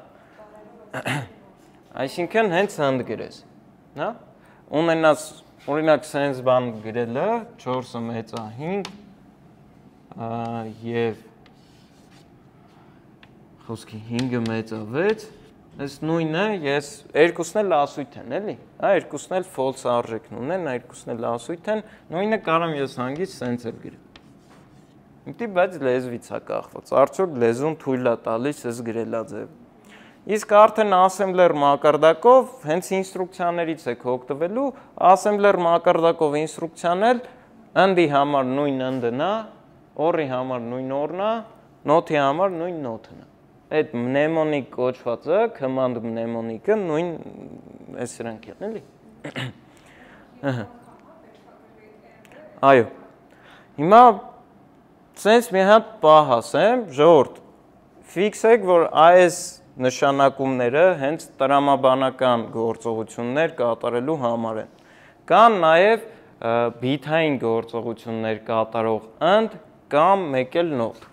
Այսինքն հենց հենց գրես, հա։ Ունենաս, օրինակ, sense բան գրելը 4-ը մեծ է 5 եւ խոսքի 5-ը մեծ է 6, այս նույնը ես երկուսն էլ ասույթ են, էլի։ Հա, երկուսն էլ false արժեքն ունեն, երկուսն էլ ասույթ են, նույնը կարամ ես հանգիստ sense էլ գրեմ։ Ինտի բայց լեզվից է կախված։ Արդյոք լեզուն թույլ է տալիս այս գրելա ձևը։ Իսկ արդեն assembler մակարդակով հենց ինստրուկցիաներից եք օգտվելու, assembler մակարդակով ինստրուկցիան էլ and-ի համար նույն and-ն է, or-ի համար նույն or-ն է, not-ի համար նույն not-ն է։ Այդ mnemonic կոչվածը, command mnemonic-ը նույն այս սրանք են, էլի։ Այո։ Հիմա sense մի հատ պահ ասեմ, ժողովուրդ, ֆիքսեք, որ այս նշանակումները հենց տրամաբանական գործողություններ կատարելու համար են։ Կան նաև բիթային գործողություններ կատարող and կամ մեկ էլ not։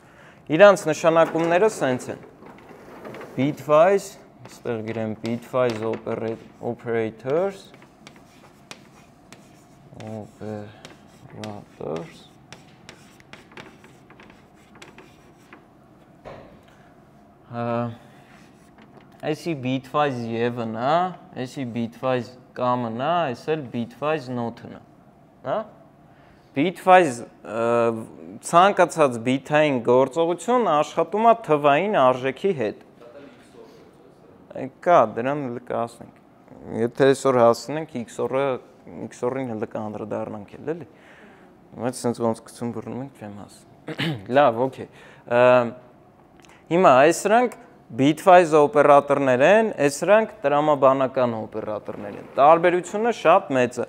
Իրանց նշանակումները sense են։ Bitwise, այստեղ գրեմ bitwise operators Այսի bitwise եւ-ն է, այսի bitwise կամ-ն է, այս էլ bitwise not-ն է, հա։ Bitwise ցանկացած բիթային գործողություն աշխատում է թվային արժեքի հետ։ Կա, դրան հələ կհասնենք։ Եթե այսօր հասնենք XOR-ին հələ կանդրադառնանք էլի։ Բայց sense ոնց գցում բռնում ենք, չեմ հասնում։ Լավ, օքեյ։ Հիմա այս սրանք bitwise օպերատորներ են, այս սրանք տրամաբանական օպերատորներ են։ Տարբերությունը շատ մեծ է։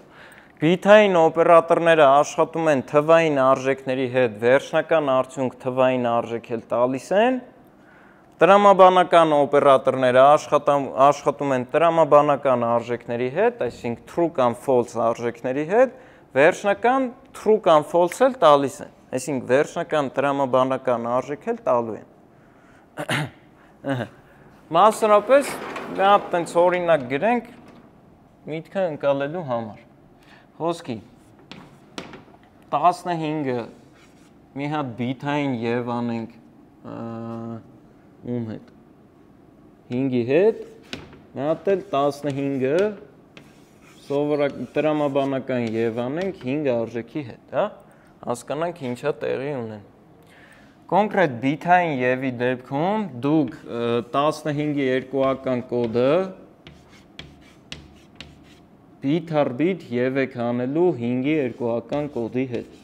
Բիթային օպերատորները աշխատում են թվային արժեքների հետ, վերջնական արդյունք թվային արժեք էլ տալիս են։ Տրամաբանական օպերատորները աշխատում են տրամաբանական արժեքների հետ, այսինքն true կամ false արժեքների հետ, վերջնական true կամ false էլ տալիս են, այսինքն վերջնական տրամաբանական արժեք էլ տալու են։ Մասնավորապես մի հատ տենց օրինակ գրենք միտքը ընկալելու համար։ Խոսքի 15-ը մի հատ բիթային եւ անենք ում հետ 5-ի հետ, մի հատ էլ 15-ը սովորակ տրամաբանական եւ անենք 5 արժեքի հետ, հա, հասկանանք ինչա տեղի ունեն։ Կոնկրետ բիթային եւի դեպքում դուք 15-ի երկուական կոդը բիթ առ բիթ եւ եք անելու 5-ի երկուական կոդի հետ։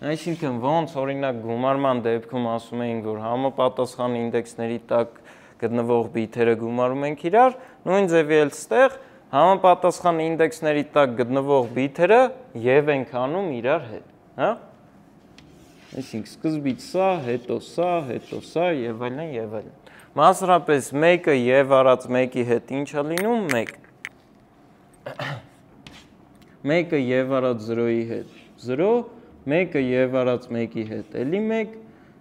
Այսինքն ոնց օրինակ գումարման դեպքում ասում էինք, որ համապատասխան ինդեքսների տակ գտնվող բիթերը գումարում ենք իրար, նույն ձևի էլ ստեղ համապատասխան ինդեքսների տակ գտնվող բիթերը եւ ենք անում իրար հետ, հա։ Այսինքն սկզբից սա, հետո սա եւ այլն եւ այլն։ Մասնավորապես 1-ը եւ արած 1-ի հետ ինչա լինում 1։ 1-ը եւ արած 0-ի հետ 0, 1-ը եւ արած 1-ի հետ էլի 1,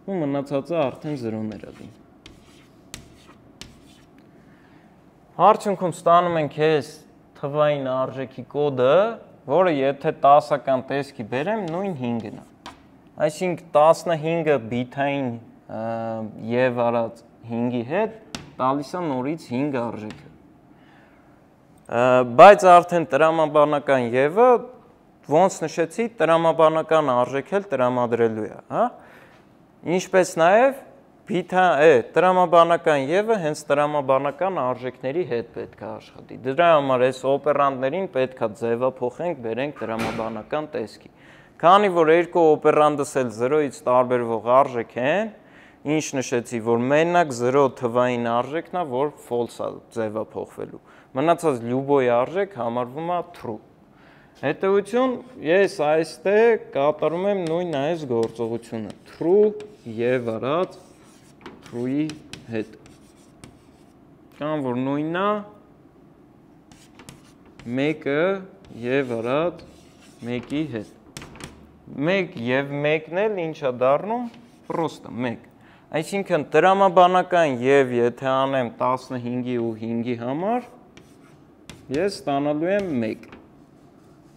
ու մնացածը արդեն 0-ներ է լինում։ Արդյունքում ստանում ենք այս թվային արժեքի կոդը որը եթե 10-ական տեսքի բերեմ, նույն 5-ն է։ Այսինքն 15-ը բիթային եւ արած 5-ի հետ տալիս է նորից 5 արժեքը։ Բայց արդեն տրամաբանական եւը ոնց նշեցի, տրամաբանական արժեք էլ տրամադրելու է, հա։ Ինչպես նաեւ տրամաբանական եւը հենց տրամաբանական արժեքների հետ պետք է աշխատի։ Դրա համար այս օպերանտներին պետք է ձևափոխենք, բերենք տրամաբանական տեսքի։ Քանի որ երկու օպերանտս էլ 0-ից տարբերվող արժեք են, ինչ նշեցի, որ մենակ 0 թվային արժեքն է, որ false է ձևափոխվելու։ Մնացած լյուբոյ արժեք համարվում է true։ Հետևություն, ես այստեղ կատարում եմ նույն այս գործողությունը, true եւ արած true-ի հետ։ Կամ որ նույնն է 1-ը եւ արած 1-ի հետ։ 1 եւ 1-ն էլ ինչ է դառնում, պրոստը 1։ Այսինքն տրամաբանական եւ եթե անեմ 15-ի ու 5-ի համար, ես ստանալու եմ 1։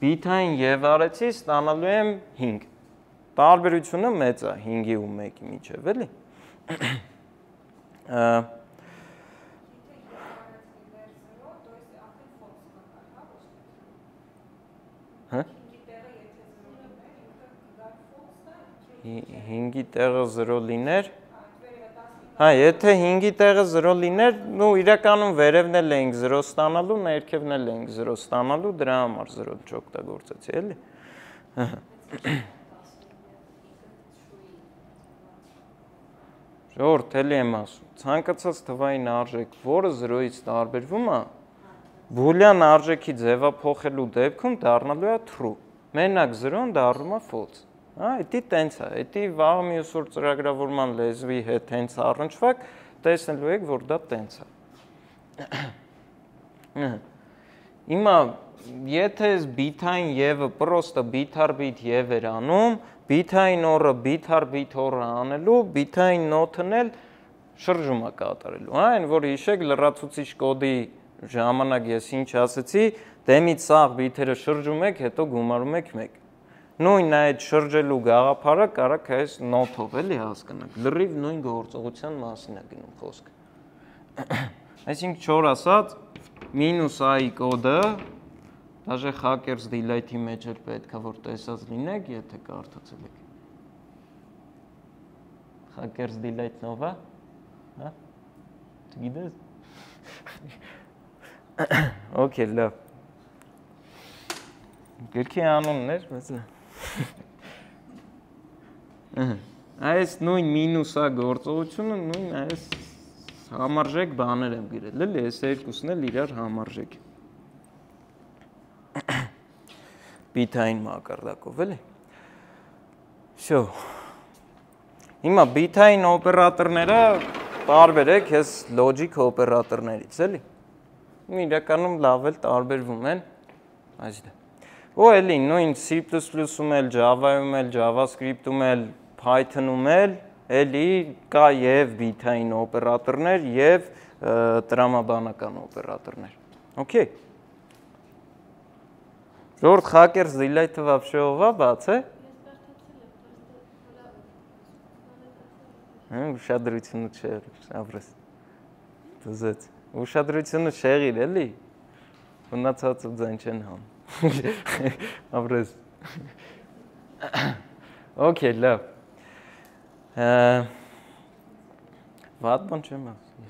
Բիթային եւ արեցի ստանալու եմ 5։ Տարբերությունը մեծ է 5-ի ու 1-ի միջեւ, էլի։ Հա 5-ի տեղը 0 լիներ։ Հա, եթե 5-ի տեղը 0 լիներ, նու իրականում վերևն էլ էինք 0 ստանալու, ներքևն էլ էինք 0 ստանալու, դրա համար 0 չօգտագործեցի, էլի։ Ժողովուրդ, էլի եմ ասում, ցանկացած թվային արժեք, որը 0-ից տարբերվում է, բուլյան արժեքի ձևափոխելու դեպքում դառնալու է true։ Մենակ 0-ն դառնում է false։ Հա, դա տենց է, դա վաղ մյուս օր ծրագրավորման լեզվի հետ հենց առնչվակ տեսնելու եք, որ դա տենց է։ Հիմա, եթե ես բիթային եւը պրոստը բիթ առ բիթ եվ էր անում, բիթային օրը բիթ առ բիթ օրը անելու, բիթային նոթն էլ շրջում է կատարելու, հա, այն որ հիշեք լրացուցիչ կոդի ժամանակ ես ինչ ասեցի, դեմից սաղ բիթերը շրջում եք, հետո գումարում եք 1։ Նույն այդ շրջելու գաղափարը կարաք այս նոթով էլի հասկանաք, լրիվ նույն գործողության մասին է գնում խոսքը։ Այսինքն չոր ասած, մինուս i կոդը, դաժե hackers delete-ի մեջ էլ պետք է որ տեսած լինեք, եթե կարդացել եք։ Hackers delete-նով է, հա, չգիտես։ Okay, լավ։ Գրքի անունն էր, բայց այս նույն մինուսա գործողությունը նույն այս համարժեք բաներ եմ գրել, էլի, այս երկուսն էլ իրար համարժեք։ Բիթային մակարդակով, էլի։ Շո։ Հիմա բիթային օպերատորները տարբերեք ես լոջիկ օպերատորներից, էլի։ Իրականում լավ էլ տարբերվում են այսինքն Ու էլի նույն C++-ում էլ, Java-ում էլ, JavaScript-ում էլ, Python-ում էլ, էլի կա եւ բիթային օպերատորներ եւ տրամաբանական օպերատորներ։ Okay։ Ժողովուրդ hackers delete-ը вообще ով է բաց է։ Ուշադրությունը չեղիր, ապրես։ Դուզեց։ Ուշադրությունը չեղիր, էլի։ Մնացածը ձայն չեն համ։ Ապրես։ Okay, լավ։ Վատ բան չեմ ասում։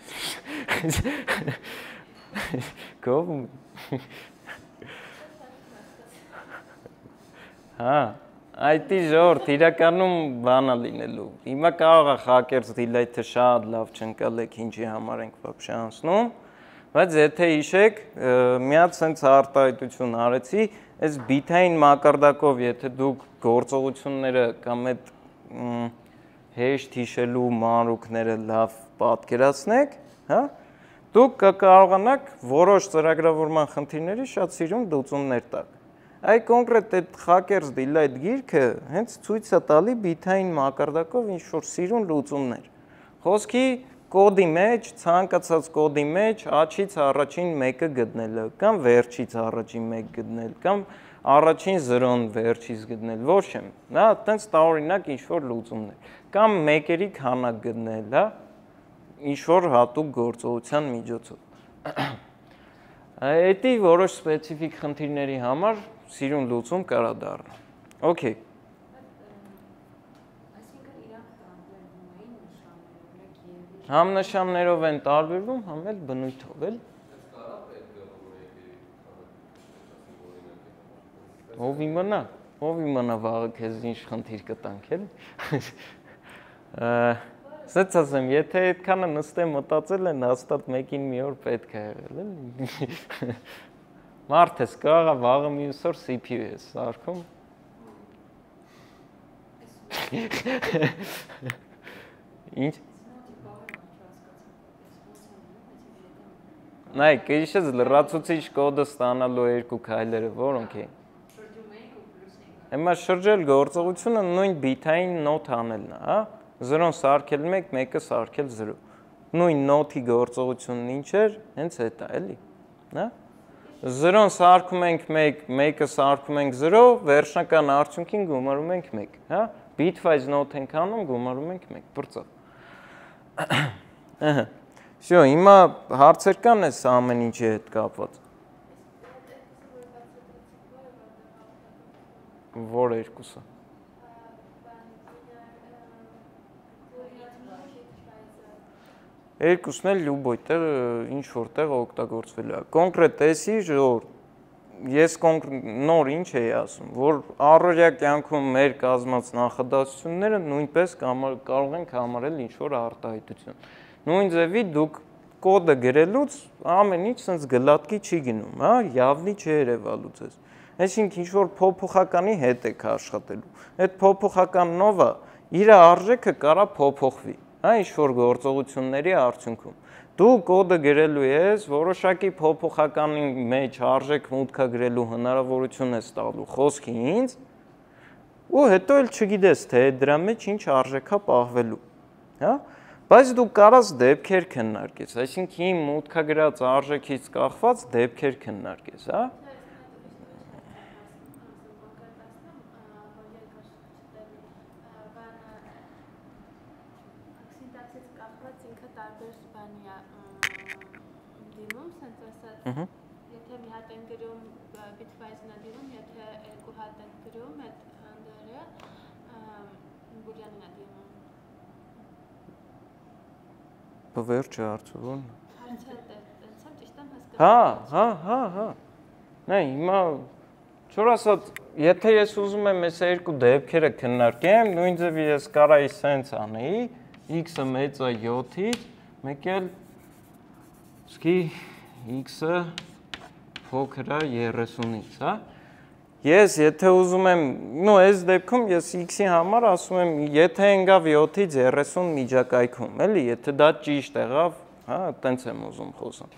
Կողմ։ Հա, այդ ժողովուրդ իրականում բան է լինելու։ Հիմա կարող է hackers delete-ը շատ լավ չընկալեք, ինչի համար ենք вообще անցնում։ Բայց եթե հիշեք, միած սենց արտահայտություն արեցի, այս բիթային մակարդակով, եթե դուք գործողությունները կամ այդ հեշտ հիշելու մանրուքները լավ պատկերացնեք, հա, դուք կկարողանաք որոշ ծրագրավորման խնդիրների շատ սիրուն լուծումներ տալ։ Այ կոնկրետ այդ hackers delete գիրքը հենց ցույց է տալի բիթային մակարդակով ինչ-որ սիրուն լուծումներ։ Խոսքի կոդի մեջ, ցանկացած կոդի մեջ աչից առաջին մեկը գտնելը, կամ վերջից առաջին մեկ գտնել, կամ առաջին 0-ն վերջից գտնել, ոչ չեմ, հա, այտենց տարօրինակ ինչ-որ լուծումներ, կամ մեկերի քանակ գտնել, հա, ինչ-որ հատուկ գործողության միջոցով։ Էդի որոշ սպეციფიկ խնդիրների համար սիրուն լուծում կարա դառնա։ Okay։ Համ նշաններով են տարբերվում, համ էլ բնույթով էլ։ Ով իմանա վաղը քեզ ինչ խնդիր կտանք էլ։ Սենց ասեմ, եթե այդքանը նստեմ մտածել են, հաստատ մեկին մի օր պետք է եղել էլ։ Մարդ ես կարա վաղը մյուս օր CPU ես սարքում։ Ինչ։ Նայ, քիչս լրացուցիչ կոդը ստանալու երկու քայլերը որոնք են։ Հիմա շրջել գործողությունը նույն բիթային նոթ անելն է, հա։ 0-ն սարքել 1, 1-ը սարքել 0։ Նույն նոթի գործողությունն ինչ էր, հենց այդ է, էլի, հա։ 0-ն սարքում ենք 1, 1-ը սարքում ենք 0, վերջնական արդյունքին գումարում ենք 1, հա։ Bitwise նոթ ենք անում, գումարում ենք 1, բրծավ։ Ահա։ Շո, հիմա հարցեր կան այս ամեն ինչի հետ կապված։ Որ երկուսը։ Երկուսն էլ լյուբոյ տեղ ինչ որտեղ օգտագործվել է։ Կոնկրետ էսի ժոր ես նոր ինչ էի ասում, որ առօրյա կյանքում մեր կազմած նախադասությունները նույնպես կարող ենք համարել ինչ որ արտահայտություն։ Նույն ձևի դուք կոդը գրելուց ամեն ինչ sense գլատկի չի գնում, հա, явնի չի երևալուց էս։ Այսինքն ինչ որ փոփոխականի հետ եք աշխատելու։ Այդ փոփոխականով իր արժեքը կարա փոփոխվի, հա, ինչ որ գործողությունների արդյունքում։ Դու կոդը գրելու ես, որոշակի փոփոխականի մեջ արժեք մուտքը գրելու հնարավորություն ես տալու խոսքի ինձ, ու հետո էլ չգիտես, թե դրա մեջ ինչ արժեքա պահվելու, հա։ Բայց դու կարաս դեպքեր քննարկես, այսինքն իմ մուտքագրած արժեքից կախված դեպքեր քննարկես, հա։ Եթե մի հատ են գրում Bitwise-ն է դիմում, եթե երկու հատ են գրում, այդ հանդերը բուլյանին է դիմում։ Վերջը հարցում։ Հարցը դեցեմ ճիշտ եմ հասկանում։ Հա։ Նայ, հիմա չոր ասած, եթե ես ուզում եմ այս երկու դեպքերը քննարկեմ, նույն ձևի ես կարայի սենց անեի, x-ը մեծ է 7-ից, մեկ էլ սկի x-ը փոքր է 30-ից, հա։ Ես եթե ուզում եմ, այս դեպքում ես x-ի համար ասում եմ, եթե ընկավ 7-ից 30 միջակայքում, էլի, եթե դա ճիշտ եղավ, հա, տենց եմ ուզում խոսամ։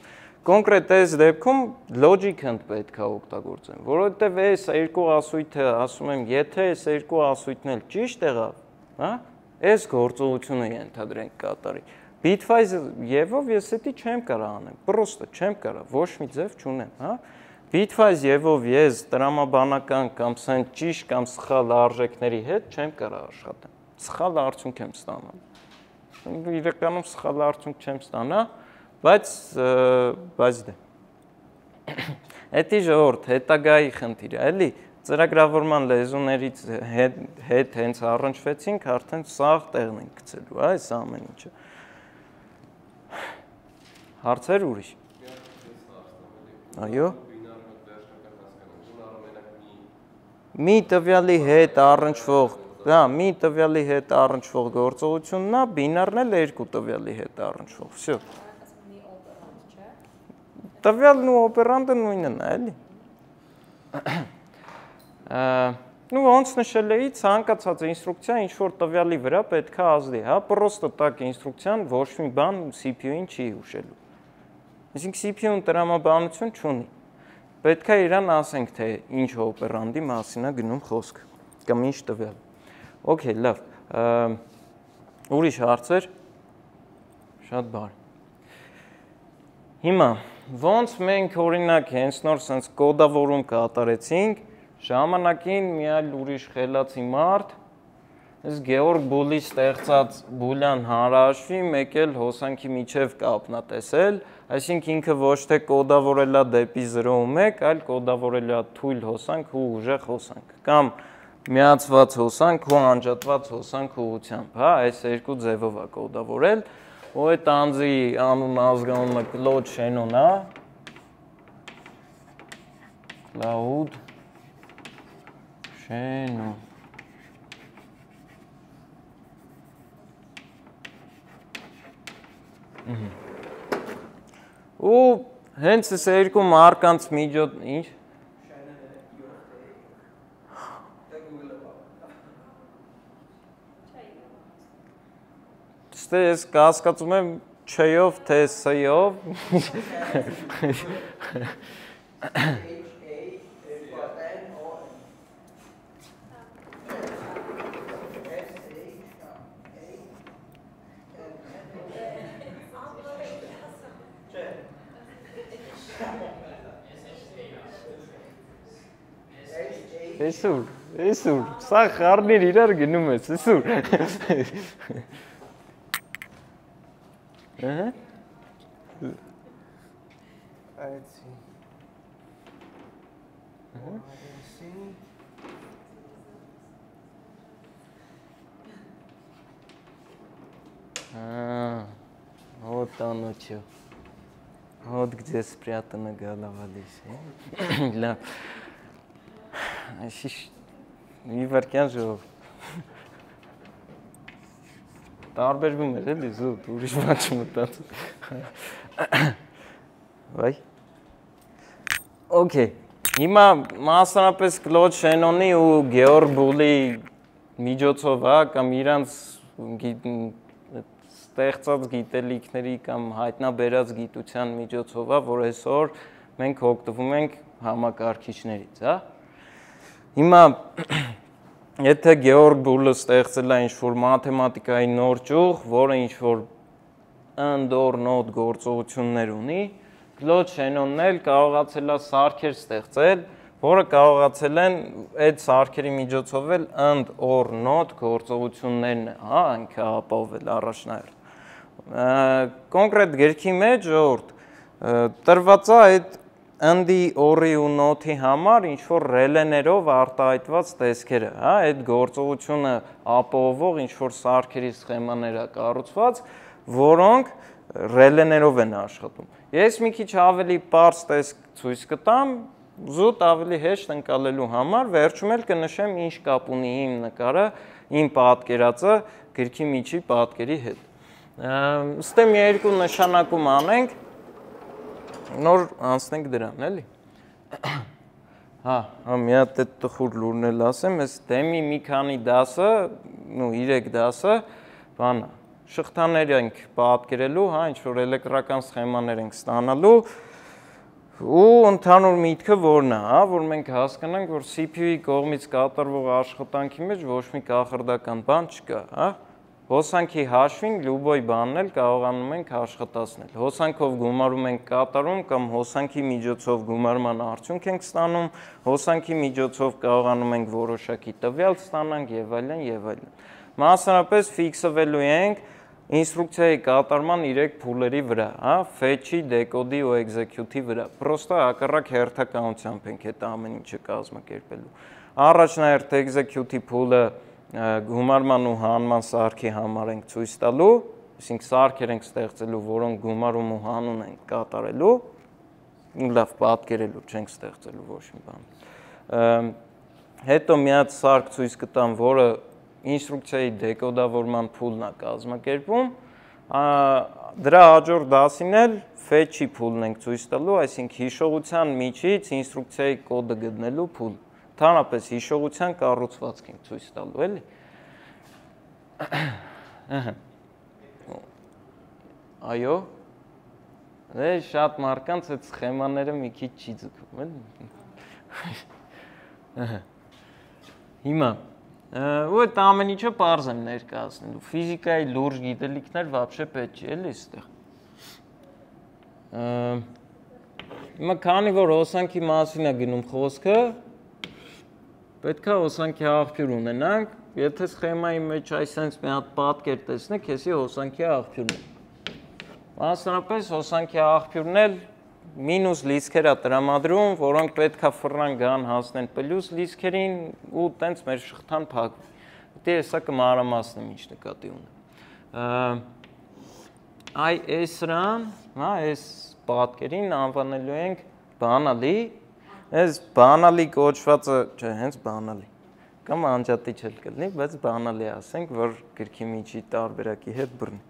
Կոնկրետ այս դեպքում logic-ը պետք է օգտագործեմ, որովհետև այս երկու ասույթը ասում եմ, եթե այս երկու ասույթն էլ ճիշտ եղավ, հա, այս գործողությունը ենթադրենք կատարի։ Bitwise եւով ես էդի չեմ կարող անեմ, պրոստը չեմ կարող, ոչ մի ձև չունեմ, հա։ Bitwise եւով ես տրամաբանական կամ սեն ճիշտ կամ սխալ արժեքների հետ չեմ կարող աշխատեմ։ Սխալ արդյունք եմ ստանում։ Իրականում սխալ արդյունք չեմ ստանա, բայց դե։ Էդի ժողովուրդ հետագայի խնդիրը, էլի, ծրագրավորման լեզուներից հետ հենց առնչվեցինք, արդեն սաղ տեղն ենք գցելու, այս ամեն ինչը։ Հարցեր ուրիշ։ Այո։ Մի տվյալի հետ առնչվող, հա, մի տվյալի հետ առնչվող գործողությունն է, բինարն էլ երկու տվյալի հետ առնչվող, всё։ Տվյալն ու օպերանտը նույնն է, էլի։ Ну, ոնց նշել էի, ցանկացած ինստրուկցիա ինչ որ տվյալի վրա պետք է ազդի, հա, պրոստը տակ ինստրուկցիան ոչ մի բան CPU-ին չի հուշելու։ Այսինքն CPU-ն տրամաբանություն չունի։ Պետք է իրան ասենք, թե ինչ օպերանտի մասին է գնում խոսքը, կամ ինչ տվյալ։ Okay, լավ։ Ուրիշ հարցեր։ Շատ բարի։ Հիմա ոնց մենք օրինակ հենց նոր sense կոդավորում կատարեցինք, ժամանակին մի այլ ուրիշ խելացի մարդ այս Գեորգ Բուլի ստեղծած բուլյան հանրահաշվի մեկ էլ հոսանքի միջև կապն է տեսել, այսինքն ինքը ոչ թե կոդավորել է դեպի 0.1, այլ կոդավորել է թույլ հոսանք ու ուժեղ հոսանք, կամ միացված հոսանք ու անջատված հոսանք ուղղությամբ, հա, այս երկու ձևով է կոդավորել, ու այդ անձի անուն ազգանունը Կլոդ Շենոն է, Cloud Շենոն ու հենց այս երկու մարկանց միջոց ինչ Ստե ես կասկածում եմ չեյով թե սեյով Էսուր, սա խառներ իրար գնում ես, էսուր։ Այցի։ Вот оно чё. Вот где спрятана голова лисы. Ля. Մի վարկյան ժողով տարբերվում էր էլի զուտ, ուրիշ բան չմտածում Վայ Okay, հիմա մասնապես Կլոդ Շենոնի ու Գեորգ Բուլի միջոցով կամ իրանց ստեղծած գիտելիքների կամ հայտնաբերած գիտության միջոցով որ այսօր մենք օգտվում ենք համակարգիչներից, հա Հիմա եթե Գեորգ Բուլը ստեղծել է ինչ-որ մաթեմատիկայի նոր ճյուղ, որը ինչ-որ and-or not գործողություններ ունի, Կլոդ Շենոնն էլ կարողացել է սարքեր ստեղծել, որը կարողացել են այդ սարքերի միջոցով էլ and-or not գործողություններն է, ինքը ապահովել առաջնահերթ։ Կոնկրետ գրքի մեջ տրված է այդ and-ի, or-ի ու not-ի համար ինչ-որ ռելեներով արտահայտված տեսքերը, այդ գործողությունը ապահովող ինչ-որ սարքերի սխեմաներ է կառուցված, որոնք ռելեներով են աշխատում։ Ես մի քիչ ավելի պարզ տեսք ցույց կտամ, զուտ ավելի հեշտ ընկալելու համար, վերջում էլ կնշեմ ինչ կապ ունի իմ նկարը, իմ պատկերածը գրքի միջի պատկերի հետ։ Ստեմ երկու նշանակում անենք Նոր անցնենք դրան, էլի։ Մի հատ այդ տխուր լուրն էլ ասեմ, այս դեմի մի քանի դասը, 3 դասը, բան է, շղթաներ ենք պատկերելու, ինչ-որ էլեկտրական սխեմաներ ենք ստանալու, ու ընդհանուր միտքը որն է, որ մենք հասկանանք, որ CPU-ի կողմից կատարվող աշխատանքի մեջ ոչ մի կախարդական բան չկա, Հոսանքի հաշվին լյուբոյ բանն էլ կարողանում ենք աշխատացնել։ Հոսանքով գումարում ենք կատարում կամ հոսանքի միջոցով գումարման արդյունք ենք ստանում, հոսանքի միջոցով կարողանում ենք որոշակի տվյալ ստանանք եւ այլն եւ այլն։ Մասնավորապես ֆիքսվելու ենք ինստրուկցիայի կատարման 3 փուլերի վրա, fetch-ի, decode-ի ու execute-ի վրա։ Պրոստը հակառակ հերթականությամբ ենք այդ ամեն ինչը կազմակերպելու։ Առաջնահերթ execute-ի փուլը գումարման ու հանման սարքի համար ենք ցույց տալու, այսինքն սարքեր ենք ստեղծելու, որոնք գումարում ու հանուն են կատարելու, լավ պատկերելու չենք ստեղծելու ոչ մի բան։ Հետո մի հատ սարք ցույց կտամ, որը ինստրուկցիայի դեկոդավորման փուլն է կազմակերպում, դրա հաջորդ դասին էլ fetch-ի փուլն ենք ցույց տալու, այսինքն հիշողության միջից ինստրուկցիայի կոդը գտնելու փուլ։ Ընդհանրապես հիշողության կառուցվածք ենք ցույց տալու, էլի։ Այո։ Դե շատ մարկանց այդ սխեմաները մի քիչ չի ձգում, էլի։ Հիմա ու այդ ամեն ինչը պարզ եմ ներկայացնելու։ Ֆիզիկայի լուրջ գիտելիքներ вообще պետք չի, էլի այստեղ։ Հիմա քանի որ հոսանքի մասին է գնում խոսքը, պետք է հոսանքի աղբյուր ունենանք, եթե սխեմայի մեջ այսպես մի հատ պատկեր տեսնեք, հեսի հոսանքի աղբյուրն է։ Մասնավորապես հոսանքի աղբյուրն էլ մինուս լիցքեր է տրամադրում, որոնք պետք է ֆռան գան հասնեն պլյուս լիցքերին ու տենց մեր շղթան փակվի։ Դե հեսա կմանրամասնեմ ինչ նկատի ունեմ։ Այ էսրան, հա, այս պատկերին անվանելու ենք բանալի, այս բանալի կոչվածը, չէ, հենց բանալի, կամ անջատիչ էլ կլինի, բայց բանալի ասենք, որ գրքի միջի տարբերակի հետ բռնի։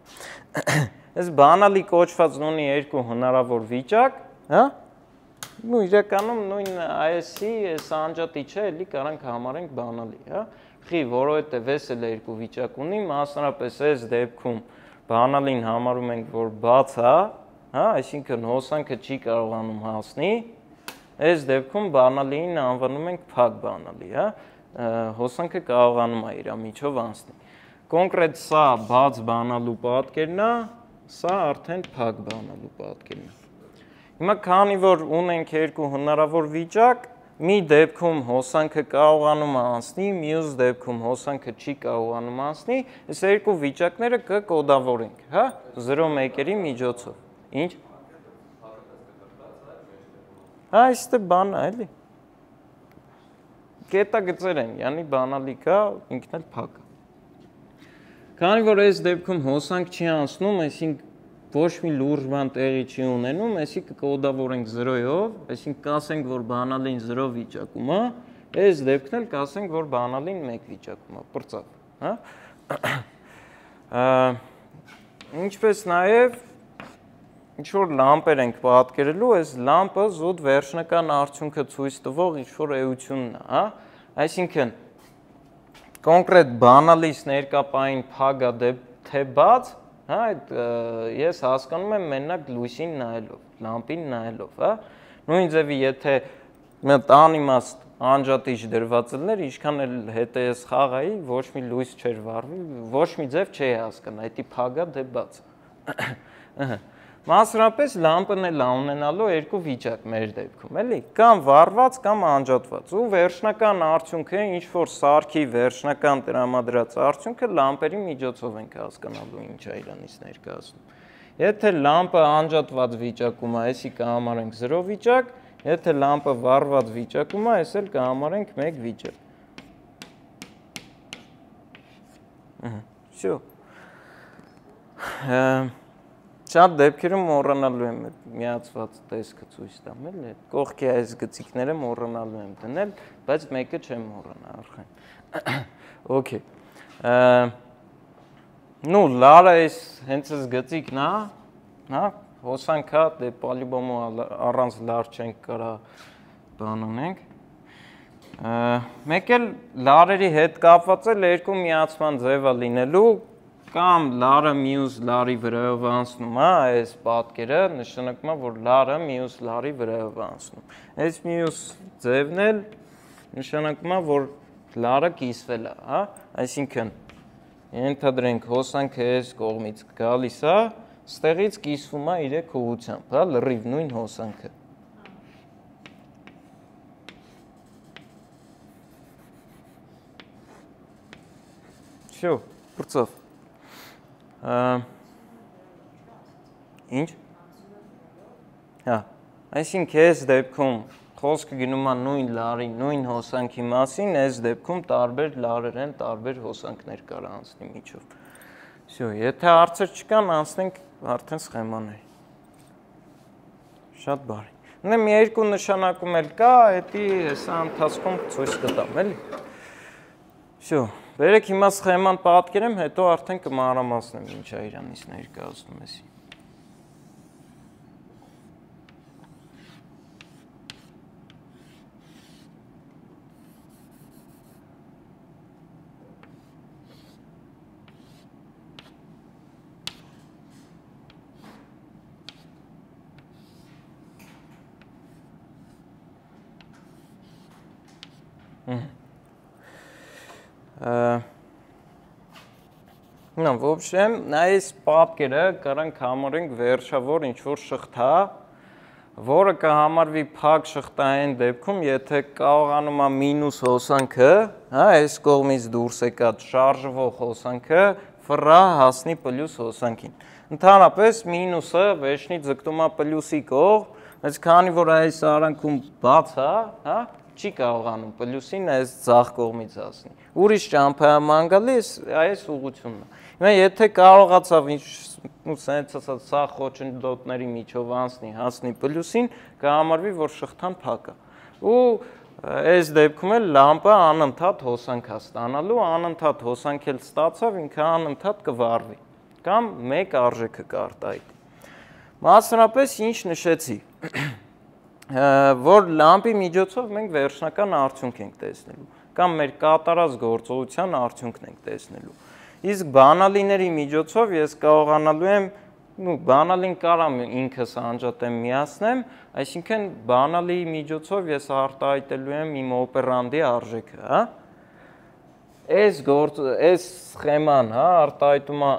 Այս բանալի կոչվածն ունի երկու հնարավոր վիճակ, հա, ու իրականում նույն այս-ի, այս անջատիչը էլի կարանք համարենք բանալի, հա, խի, որովհետև այս էլ երկու վիճակ ունի, մասնարապես այս դեպքում բանալին համարում ենք, որ բաց է, հա, այսինքն հոսանքը չի կարողանում հասնի, այս դեպքում բանալիին անվանում ենք փակ բանալի, հա, հոսանքը կարողանում է իր միջով անցնի։ Կոնկրետ սա բաց բանալու պատկերն է, սա արդեն փակ բանալու պատկերն է։ Հիմա քանի որ ունենք երկու հնարավոր վիճակ, մի դեպքում հոսանքը կարողանում է անցնի, մյուս դեպքում հոսանքը չի կարողանում անցնի, այս երկու վիճակները կկոդավորենք, հա, 0-1-երի միջոցով։ Ինչ։ Այստեղ բան է, էլի։ Կետագծեր են, յանի բանալի կա, ինքն էլ փակ է։ Քանի որ այս դեպքում հոսանք չի անցնում, այսինքն ոչ մի լուրջ բան տեղի չի ունենում, այսի կկոդավորենք 0-ով, այսինքն կասենք, որ բանալին 0 վիճակում է, այս դեպքն էլ կասենք, որ բանալին 1 վիճակում է, պրծավ, հա։ Ինչպես նաև ինչ-որ լամպեր ենք պատկերելու, այս լամպը զուտ վերջնական արդյունքը ցույց տվող ինչ-որ էությունն է, հա։ Այսինքն կոնկրետ բանալից ներկապային փագա թե բաց, հա, ես հասկանում եմ մենակ լույսին նայելով, լամպին նայելով, հա։ Նույն ձևի եթե մի անիմաստ անջատիչ դրված լիներ, ինչքան էլ հետը ես խաղայի, ոչ մի լույս չէր վառվի, ոչ մի ձև չէի հասկանա, դա փագա թե բաց։ Մասնավորապես լամպն էլ ունենալու երկու վիճակ մեր դեպքում, էլի, կամ վառված, կամ անջատված։ Ու վերջնական արդյունքը, ինչ որ սարքի վերջնական տրամադրած արդյունքը լամպերի միջոցով ենք հասկանալու ինչ է իրանից ներկայացնում։ Եթե լամպը անջատված վիճակում է, այսի կհամարենք 0 վիճակ, եթե լամպը վառված վիճակում է, այս էլ կհամարենք 1 վիճակ։ Всё։ Շատ դեպքերում մոռանալու եմ միացված տեսքը ցույց տամ, էլի, կողքի այս գծիկները մոռանալու եմ դնել, բայց մեկը չեմ մոռանա, արխեն։ Okay։ Ну, լարը այս հենց այս գծիկն է, հա, հոսանքա, դե պալիբոմը առանց լար չենք կարա բան ունենք։ Մեկ էլ լարերի հետ կապված էլ երկու միացման ձև է լինելու, կամ լարը մյուս լարի վրայով անցնում է, այս պատկերը նշանակում է, որ լարը մյուս լարի վրայով անցնում։ Այս մյուս ձևն էլ նշանակում է, որ լարը կիսվել է, հա, այսինքն ենթադրենք հոսանքը այս կողմից գալիս է, ստեղից կիսվում է իր ուղղությամբ, հա, լրիվ նույն հոսանքը։ Всё, պրծավ։ Ինչ։ Հա, այսինքն այս դեպքում խոսքը գնում է նույն լարի, նույն հոսանքի մասին, այս դեպքում տարբեր լարեր են, տարբեր հոսանքներ կարա անցնի միջով։ Всё, եթե հարցեր չկան, անցնենք արդեն սխեմաների։ Շատ բարի։ Ունեմ երկու նշանակում էլ կա, դա հեսա ընթացքում ցույց կտամ, էլի։ Всё, վերեք հիմա սխեման պատկերեմ, հետո արդեն կմանրամասնեմ ինչ է իրանից ներկայացնում էսի։ Ну, в общем, այս պատկերը կարանք համարենք վերջավոր ինչ-որ շղթա, որը կհամարվի փակ շղթային դեպքում, եթե կարողանում է մինուս հոսանքը, հա, այս կողմից դուրս եկած շարժվող հոսանքը ֆռա հասնի պլյուս հոսանքին։ Ընդհանրապես մինուսը վերջնից ձգտում է պլյուսի կողմ, այս քանի որ այս արանքում բաց է, հա, չի կարողանում պլյուսին այս ձախ կողմից հասնի։ Ուրիշ ճամփաման գալիս այս ուղղությունն է։ Հիմա եթե կարողացավ սենց ասած սա խոչընդոտների միջով անցնի, հասնի պլյուսին, կհամարվի, որ շղթան փակ է։ Ու այս դեպքում էլ լամպը անընդհատ հոսանք է ստանալու, անընդհատ հոսանք էլ ստացավ, ինքը անընդհատ կվառվի կամ մեկ արժեքը կարտահայտի։ Մասնավորապես ինչ նշեցի, որ լամպի միջոցով մենք վերջնական արդյունք ենք տեսնելու կամ մեր կատարած գործողության արդյունքն ենք տեսնելու։ Իսկ բանալիների միջոցով ես կարողանալու եմ, բանալին կարամ ինքս անջատեմ միացնեմ, այսինքն բանալի միջոցով ես արտահայտելու եմ իմ օպերանդի արժեքը, հա։ Այս սխեման, հա, արտահայտում է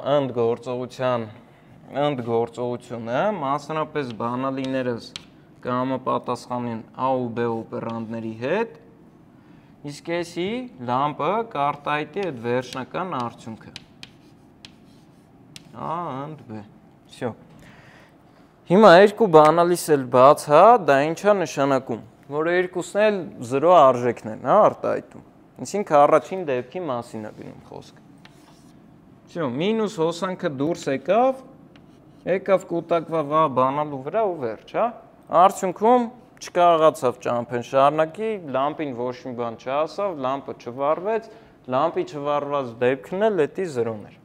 ընդ գործողությունը, մասնավորապես բանալիներս կհամապատասխանեն A ու B օպերանդների հետ, իսկ էսի լամպը կարտահայտի այդ վերջնական արդյունքը։ A and B։ Всё։ Հիմա երկու բանալիս էլ բաց է, դա ինչ է նշանակում, որ երկուսն էլ 0 արժեքն են, հա, արտահայտում։ Այսինքն առաջին դեպքի մասին է գնում խոսքը։ Всё, մինուս հոսանքը դուրս եկավ կուտակվավ A բանալու վրա ու վերջ, հա։ Արդյունքում չկարողացավ ճամփեն շարունակի, լամպին ոչ մի բան չհասավ, լամպը չվառվեց, լամպի չվառված դեպքն էլ էդի 0-ն էր։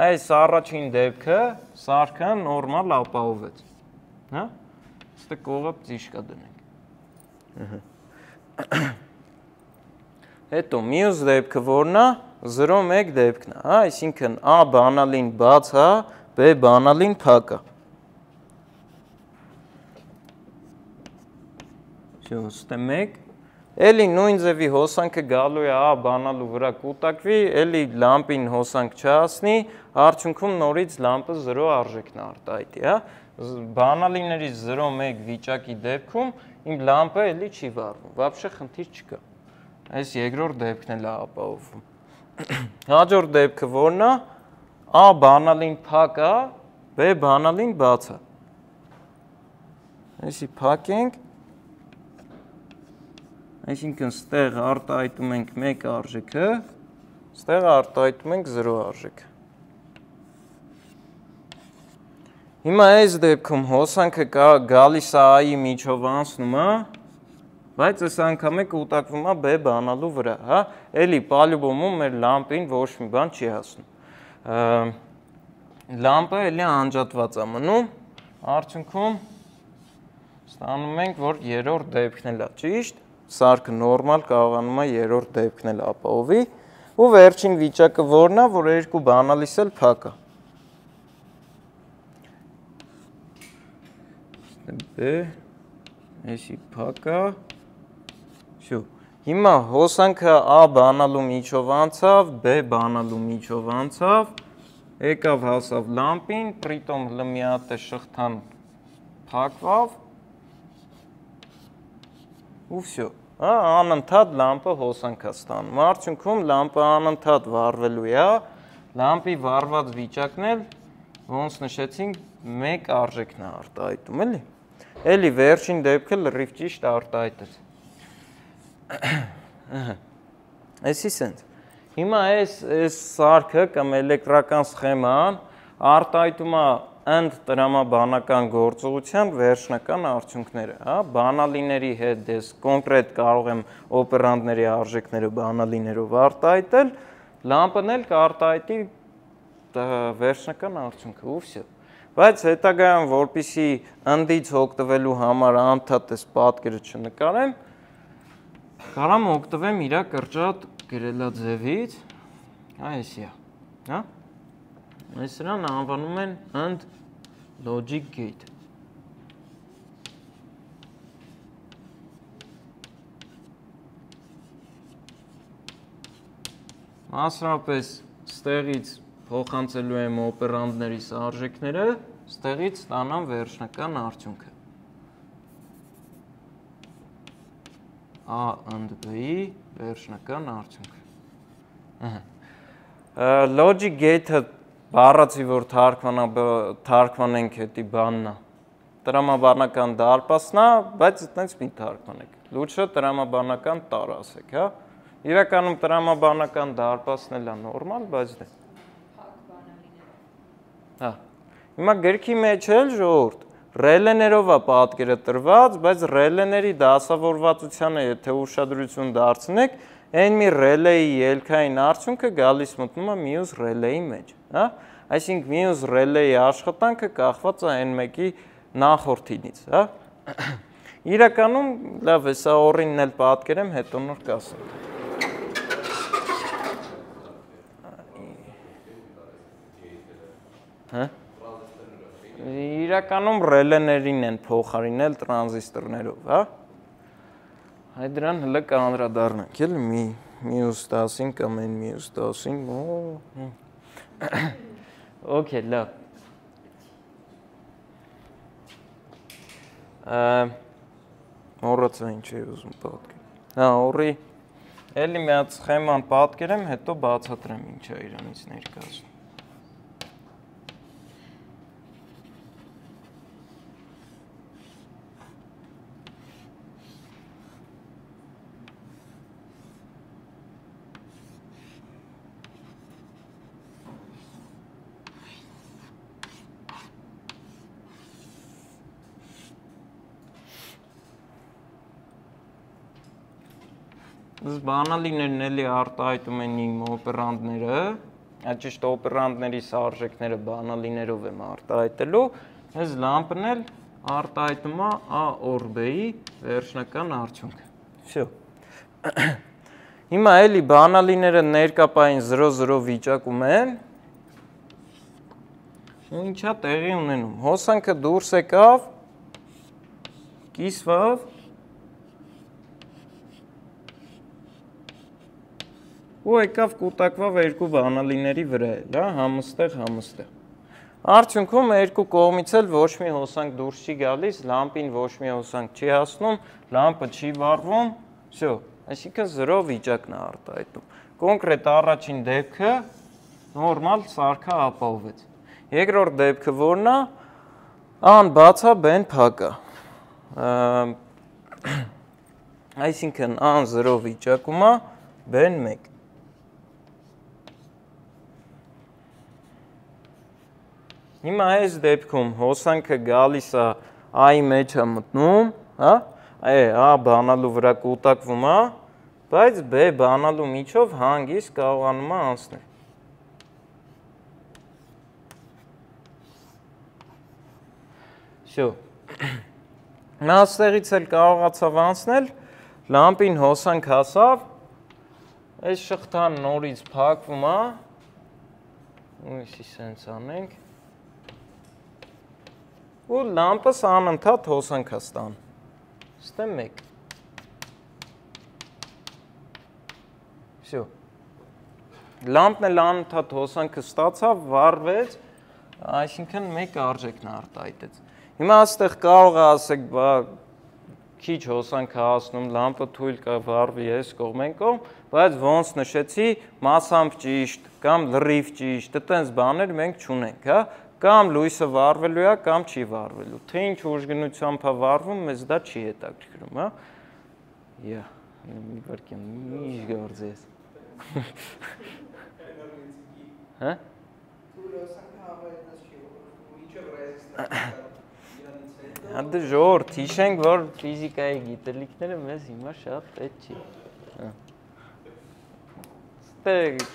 Այս առաջին դեպքը սարքը նորմալ ապահովեց, հա։ Ստե կողը ծիշկա դնենք։ Հետո մյուս դեպքը որն է, 0-1 դեպքն է, հա, այսինքն A բանալին բաց է, B բանալին փակ է։ Ստե 1, էլի նույն ձևի հոսանքը գալու է A բանալու վրա կուտակվի, էլի լամպին հոսանք չհասնի, արդյունքում նորից լամպը 0 արժեքն արտահայտի, հա։ Բանալիներից 0-1 վիճակի դեպքում իմ լամպը էլի չի վառվում, вообще խնդիր չկա։ Այս երկրորդ դեպքն էլ է ապահովում։ Հաջորդ դեպքը որն է, A բանալին փակ է, B բանալին բաց է։ Այսի փակենք, այսինքն ստեղ արտահայտում ենք 1 արժեքը, ստեղ արտահայտում ենք 0 արժեքը։ Հիմա այս դեպքում հոսանքը գալիս է A-ի միջով անցնում է, բայց այս անգամ է կուտակվում է B բանալու վրա, հա, էլի պալյուբոմում մեր լամպին ոչ մի բան չի հասնում։ Լամպը էլի անջատված է մնում, արդյունքում ստանում ենք, որ երրորդ դեպքն էլ է, ճիշտ, սարքը նորմալ կարողանում է երրորդ դեպքն էլ ապահովի, ու վերջին վիճակը որն է, որ երկու բանալիս էլ փակ է։ B, էսի փակ է, Всё։ Հիմա հոսանքը A բանալու միջով անցավ, B բանալու միջով անցավ, եկավ հասավ լամպին, պրիտոմ մի հատ է շղթան փակվավ, ու всё։ Անընդհատ լամպը հոսանք է ստանում։ Արդյունքում լամպը անընդհատ վառվելու է, լամպի վառված վիճակն էլ, ոնց նշեցինք, 1 արժեքն է արտահայտում, էլի։ Էլի վերջին դեպքը լրիվ ճիշտ արտահայտեց։ Էսի սենց։ Հիմա այս սարքը կամ էլեկտրական սխեման արտահայտում է ընդ տրամաբանական գործողության վերջնական արդյունքները, հա, բանալիների հետ դες կոնկրետ կարող եմ օպերանդների արժեքները բանալիներով արտահայտել, լամպն էլ կարտահայտի վերջնական արդյունքը, ու всё։ Բայց հետագայում, որպեսզի ընդից օգտվելու համար անդադար այս պատկերը չնկարեմ, կարամ օգտվեմ իր կրճատ գրելաձևից, այսի է, հա։ Այս սրան անվանում են and logic gate։ Մասնավորապես ստեղից փոխանցելու եմ օպերանդներիս արժեքները, ստեղից ստանամ վերջնական արդյունքը։ A and B-ի վերջնական արդյունքը։ Logic gate-ը բառացի, որ թարգմանենք հետի բանն է, տրամաբանական դարպասն է, բայց այդպես մի թարգմանեք։ Լուչը տրամաբանական տար ասեք, հա։ Իրականում տրամաբանական դարպասն էլ է նորմալ, բայց դե։ Հա։ Հիմա գրքի մեջ էլ ժողովուրդ ռելեներով է պատկերը տրված, բայց ռելեների դասավորվածությանը եթե ուշադրություն դարձնեք, այն մի ռելեի ելքային արդյունքը գալիս մտնում է մյուս ռելեի մեջ, հա։ Այսինքն մյուս ռելեի աշխատանքը կախված է այն մեկի նախորդինից, հա։ Իրականում լավ է, սա օրինն էլ պատկերեմ, հետո նոր կասեմ։ Հա։ Իրականում ռելեներին են փոխարինել տրանզիստորներով, հա։ Այդ դրան հələ կանդրադառնանք, էլի մյուս 10-ին կամ այն մյուս 10-ին, Okay, լավ։ Մոռացա ինչ էի ուզում պատկերել։ Հա, օրի էլի մի հատ սխեման պատկերեմ, հետո բացատրեմ ինչ է իրանից ներկայացնում։ Բանալիներն էլի արտահայտում են իմ օպերանտները, ճիշտ օպերանտների սարժեքները բանալիներով եմ արտահայտելու, այս լամպն էլ արտահայտում է A or B-ի վերջնական արդյունքը։ Всё։ Հիմա էլի բանալիները ներկապային 0-0 վիճակում են։ Ու ինչա տեղի ունենում։ Հոսանքը դուրս եկավ, կիսվավ, ու եկավ կուտակվավ երկու բանալիների վրա էլ, հա, համստեղ։ Արդյունքում երկու կողմից էլ ոչ մի հոսանք դուրս չի գալիս, լամպին ոչ մի հոսանք չի հասնում, լամպը չի վառվում, всё, այսինքն 0 վիճակն է արտահայտում։ Կոնկրետ առաջին դեպքը նորմալ սարքը ապահովեց։ Երկրորդ դեպքը որն է, A-ն բաց է, B-ն փակ է։ Այսինքն A-ն 0 վիճակում է, B-ն 1։ Հիմա այս դեպքում հոսանքը գալիս է A-ի մեջ է մտնում, հա, A բանալու վրա կուտակվում է, բայց B բանալու միջով հանգիստ կարողանում է անցնել։ Всё։ Նա այստեղից էլ կարողացավ անցնել, լամպին հոսանք հասավ, այս շղթան նորից փակվում է, ու իսի սենց անենք, ու լամպը անընդհատ հոսանք է ստանում։ Ստե 1։ Всё։ Լամպն էլ անընդհատ հոսանքը ստացավ, վառվեց, այսինքն 1 արժեքն արտահայտեց։ Հիմա այստեղ կարող է ասեք, բա քիչ հոսանք է հասնում, լամպը թույլ կա վառվի այս կողմ այն կողմ, բայց ոնց նշեցի, մասամբ ճիշտ կամ լրիվ ճիշտ, այդպես բաներ մենք չունենք, հա։ Կամ լույսը վառվելու է, կամ չի վառվելու։ Թե ինչ ուժգնությամբ է վառվում, մեզ դա չի հետաքրքրում, հա։ Յա, մի վարքյան, ինչ գործես։ Հա։ Հանդը ժողովուրդ, հիշենք, որ ֆիզիկայի գիտելիքները մեզ հիմա շատ պետք չի։ Ստեղ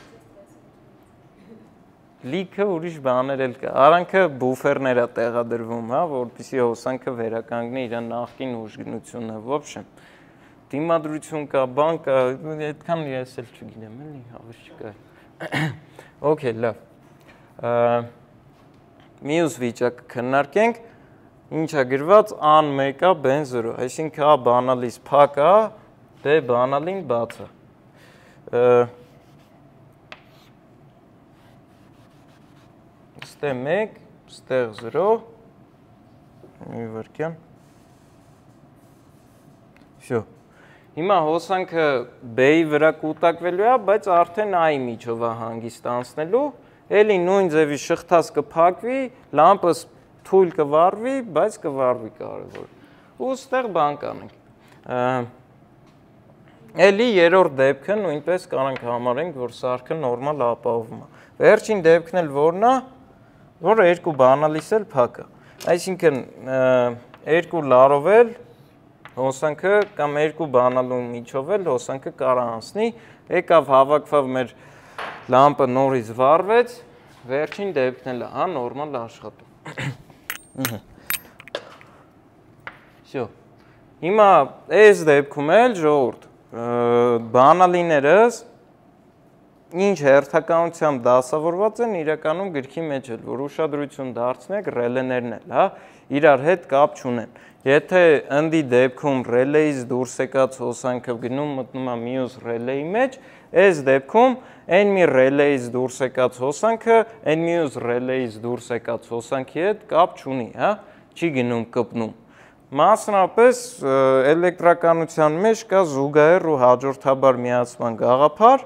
լիքը ուրիշ բաներ էլ կա։ Արանքը բուֆերներ է տեղադրվում, հա, որպեսզի հոսանքը վերականգնի իր նախկին ուժգնությունը, ոբշեմ։ Դիմադրություն կա, բան կա, այդքան ես էլ չգիտեմ, էլի, հավես չկա։ Okay, լավ։ Մյուս վիճակը քննարկենք, ինչ է գրված A-ն 1 է, B-ն 0, այսինքն A բանալից փակ է, B բանալին բաց է։ Ստեղ 1, ստեղ 0, մի վարքյան։ Всё։ Հիմա հոսանքը B-ի վրա կուտակվելու է, բայց արդեն A-ի միջով է հանգստանցնելու, էլի նույն ձևի շղթաս կփակվի, լամպը թույլ կվառվի, բայց կվառվի կարևոր։ Ու ստեղ բան կանենք։ Էլի երրորդ դեպքը նույնպես կարանք համարենք, որ սարքը նորմալ ապահովում է։ Վերջին դեպքն էլ որն է, որ երկու բանալիս էլ փակ է։ Այսինքն երկու լարով էլ հոսանքը կամ երկու բանալու միջով էլ հոսանքը կարա անցնի, եկավ հավաքվավ մեր լամպը նորից վառվեց, վերջին դեպքն էլ է, նորմալ աշխատում։ Всё։ Հիմա այս դեպքում էլ ժողովուրդ բանալիներս ինչ հերթականությամբ դասավորված են իրականում գրքի մեջ էլ, որ ուշադրություն դարձնեք ռելեներն էլ, հա, իրար հետ կապ չունեն։ Եթե ընդի դեպքում ռելեից դուրս եկած հոսանքը գնում մտնում է մյուս ռելեի մեջ, այս դեպքում այն մի ռելեից դուրս եկած հոսանքը այն մյուս ռելեից դուրս եկած հոսանքի հետ կապ չունի, հա, չի գնում կպնում։ Մասնապես էլեկտրականության մեջ կա զուգահեռ ու հաջորդաբար միացման գաղափար։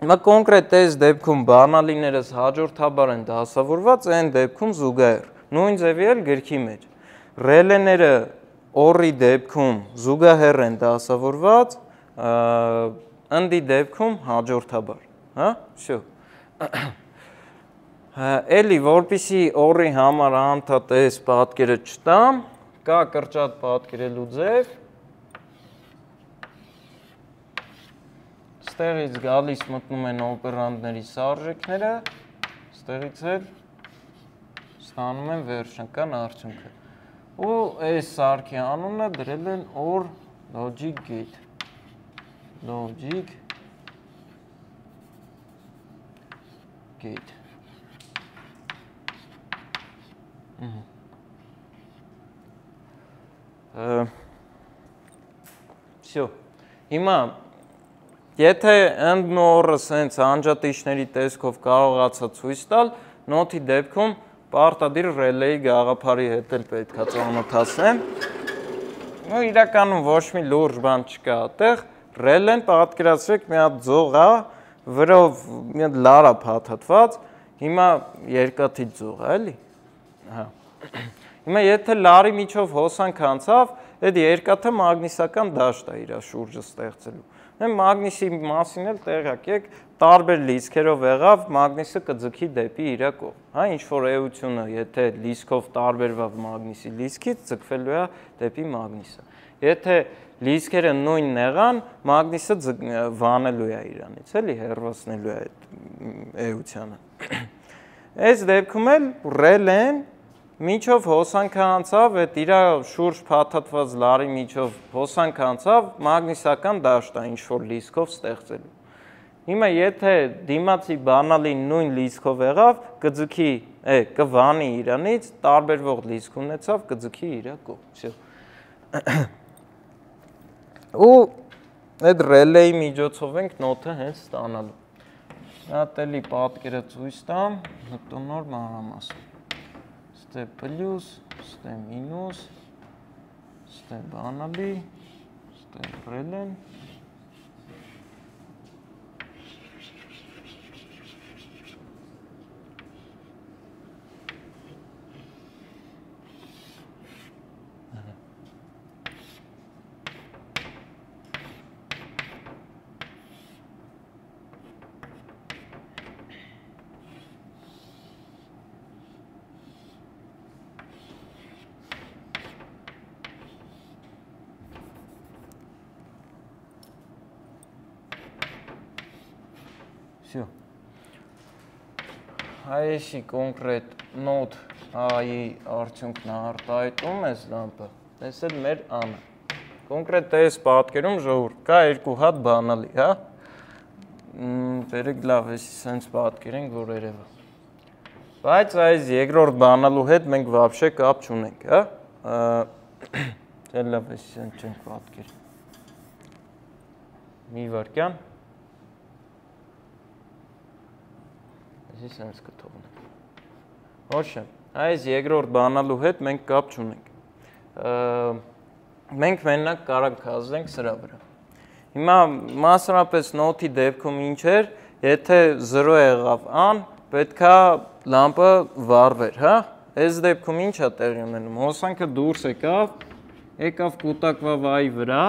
Հիմա կոնկրետ այս դեպքում բանալիներս հաջորդաբար են դասավորված, այն դեպքում զուգահեռ։ Նույն ձևի էլ գրքի մեջ։ Ռելեները օռի դեպքում զուգահեռ են դասավորված, ընդի դեպքում հաջորդաբար, հա, всё։ Էլի որպեսի օռի համար անդադ այս պատկերը չտամ, կա կրճատ պատկերելու ձև։ Ստեղից գալիս մտնում են օպերանտների սարժեքները, ստեղից էլ ստանում են վերջնական արդյունքը։ Ու այս սարքի անունը դրել են OR Logic Gate։ Logic Gate։ Всё։ Հիմա եթե ընդն ու օռը սենց անջատիչների տեսքով կարողացա ցույց տալ, նոթի դեպքում պարտադիր ռելեի գաղափարի հետ էլ պետք է ծանոթացնեմ։ Ու իրականում ոչ մի լուրջ բան չկա այդտեղ, ռելեն պատկերացրեք մի հատ ձող է, վրով մի հատ լար է փաթաթված, հիմա երկաթի ձող է, էլի։ Հա։ Հիմա եթե լարի միջով հոսանք անցավ, այդ երկաթը մագնիսական դաշտ է իր շուրջը ստեղծելու։ Մագնիսի մասին էլ տեղյակ եք, տարբեր լիցքերով եղավ, մագնիսը կձգի դեպի իր կողմ։ Հա, ինչ որ էությունը, եթե լիցքով տարբերվավ մագնիսի լիցքից, ձգվելու է դեպի մագնիսը։ Եթե լիցքերը նույնն եղան, մագնիսը վանելու է իրանից, էլի հեռացնելու է այդ էությանը։ Այս դեպքում էլ ռելեն միջով հոսանքը անցավ, այդ իր շուրջ փաթաթված լարի միջով հոսանքը անցավ, մագնիսական դաշտ է ինչ-որ լիցքով ստեղծելու։ Հիմա եթե դիմացի բանալին նույն լիցքով եղավ, կվանի իրանից, տարբերվող լիցք ունեցավ, կձգի իր կողմ։ Ու այդ ռելեի միջոցով ենք նոթը հենց ստանալու։ Հատ էլի պատկերը ցույց տամ, նոր մանրամասն։ Ստե պլյուս, ստե մինուս, ստե բանալի, ստե ռելեն։ Всё։ Այսի կոնկրետ նոթ A-ի արդյունքն արտահայտում ես լամպը, այս էլ մեր A-ն է։ Կոնկրետ այս պատկերում ժողովուրդ կա երկու հատ բանալի, հա։ Բերեք լավ, էսի սենց պատկերենք, որ երևա։ Բայց այս երկրորդ բանալու հետ մենք вообще կապ չունենք, հա։ Դե լավ, էսի սենց չենք պատկեր։ Մի վարկյան։ Սենց կթողնենք։ Ոչ է, այս երկրորդ բանալու հետ մենք կապ չունենք։ մենք մենակ կարող կազդենք սրա վրա։ Հիմա մասնավորապես նոթի դեպքում ինչ էր, եթե 0 եղավ ան, պետքա լամպը վառվեր, հա։ Այս դեպքում ինչ է տեղի ունենում։ Հոսանքը դուրս եկավ կուտակվա վայի վրա,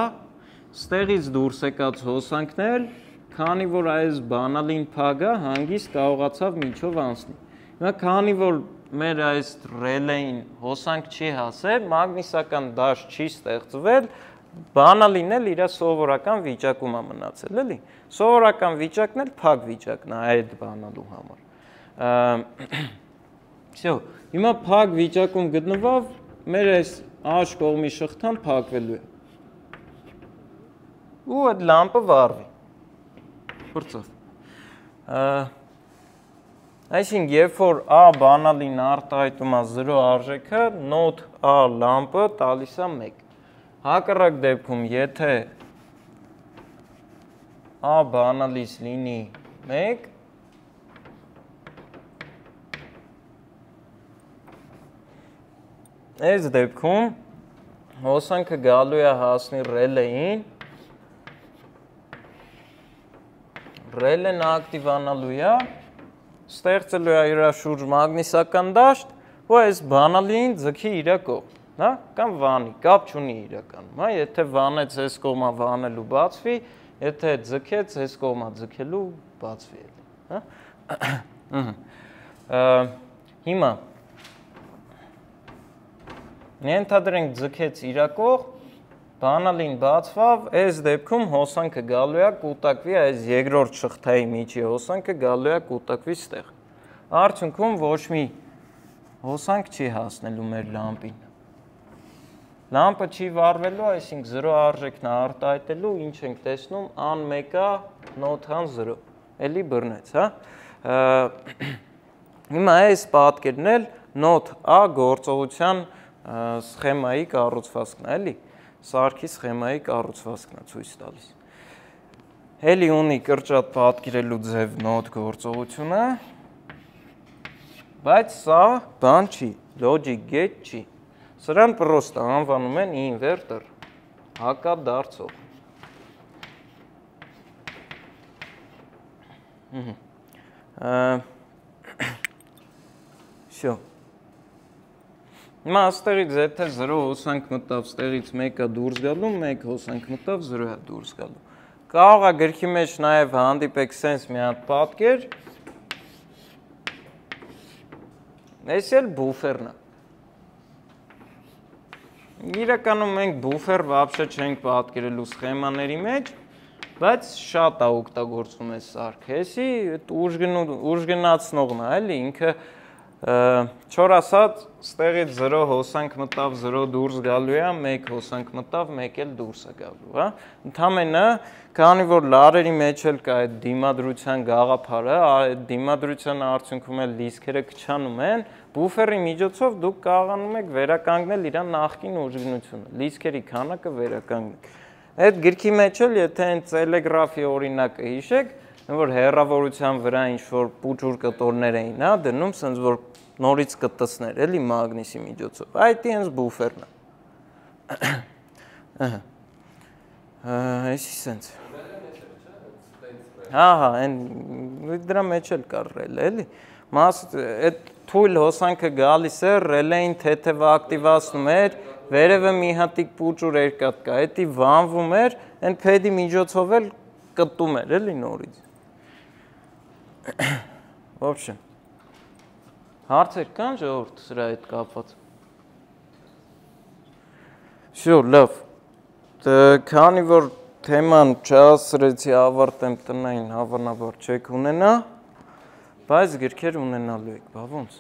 ստեղից դուրս եկած հոսանքն էլ, քանի որ այս բանալին փագա, հանգիստ կարողացավ միջով անցնի։ Հիմա քանի որ մեր այս ռելեին հոսանք չի հասել, մագնիսական դաշտ չի ստեղծվել, բանալին էլ իր սովորական վիճակում է մնացել, էլի։ Սովորական վիճակն էլ փակ վիճակն է այդ բանալու համար։ Всё, հիմա փակ վիճակում գտնվավ, մեր այս աշ կողմի շղթան փակվելու է։ Ու այդ լամպը վառվի։ Փրծավ։ Այսինքն, երբ որ A բանալին արտահայտում է 0 արժեքը, նոթ A լամպը տալիս է 1։ Հակառակ դեպքում, եթե A բանալից լինի 1, այս դեպքում հոսանքը գալու է հասնի ռելեին, ռելեն ակտիվանալու է, ստեղծելու է իր շուրջ մագնիսական դաշտ, ու այս բանալին ձգի իր կողմ, հա, կամ վանի, կապ չունի իրականում, հա, եթե վանեց այս կողմը վանելու բացվի, եթե ձգեց այս կողմը ձգելու բացվի էլի, հա։ Հիմա ենթադրենք ձգեց իր կողմ, բանալին բացվավ, այս դեպքում հոսանքը գալու է կուտակվի այս երկրորդ շղթայի միջի հոսանքը գալու է կուտակվի ստեղ։ Արդյունքում ոչ մի հոսանք չի հասնելու մեր լամպին։ Լամպը չի վառվելու, այսինքն 0 արժեքն է արտահայտելու, ինչ ենք տեսնում, ան 1-ը, նոթան 0, էլի բռնեց, հա։ Հիմա այս պատկերն էլ նոթ A գործողության սխեմայի կառուցվածքն է, էլի։ Սարքի սխեմայի կառուցվածքն է ցույց տալիս։ Էլի ունի կրճատ պատկերելու ձև նոթ գործողությունը, բայց սա բան չի, logic gate չի։ Սրան պրոստը անվանում են ինվերտոր, հակադարձող։ Всё։ Հիմա աստեղից եթե 0 հոսանք մտավ, ստեղից 1-ը դուրս գալու, 1 հոսանք մտավ, 0-ը դուրս գալու։ Կարող է գրքի մեջ նաև հանդիպեք սենց մի հատ պատկեր, այս էլ բուֆերն է։ Իրականում մենք բուֆեր վաբշե չենք պատկերելու սխեմաների մեջ, բայց շատ է օգտագործում այս սարքը։ Էսի ուժգնացնողն է, էլի ինքը չոր ասած, ստեղից 0 հոսանք մտավ, 0 դուրս գալու է, 1 հոսանք մտավ, 1 էլ դուրս է գալու, հա։ Ընդամենը, քանի որ լարերի մեջ էլ կա այդ դիմադրության գաղափարը, այդ դիմադրության արդյունքում էլ լիսկերը քչանում են, բուֆերի միջոցով դուք կարողանում եք վերականգնել իր նախկին ուժգնությունը, լիսկերի քանակը վերականգնեք։ Այդ գրքի մեջ էլ, եթե այն տելեգրաֆի օրինակը հիշեք, որ հեռավորության վրա ինչ-որ պուճուր կտորներ էին, հա, դնում, սենց որ նորից կտսներ, էլի մագնիսի միջոցով, այդ հենց բուֆերն է։ Այսի սենց։ Հա, դրա մեջ էլ կար ռելը, էլի։ Այդ թույլ հոսանքը գալիս է, ռելեին թեթևը ակտիվացնում էր, վերևը մի հատիկ պուճուր երկաթ կա, էդի վանվում էր, այն փեդի միջոցով էլ կտում էր, էլի նորից։ Ոբշե։ Հարցեր կան ժողովուրդ սրա հետ կապված։ Всё, լավ։ Քանի որ թեման չհասցրեցի ավարտեմ տնային, հավանաբար չեք ունենա, բայց գրքեր ունենալու եք, բա ոնց։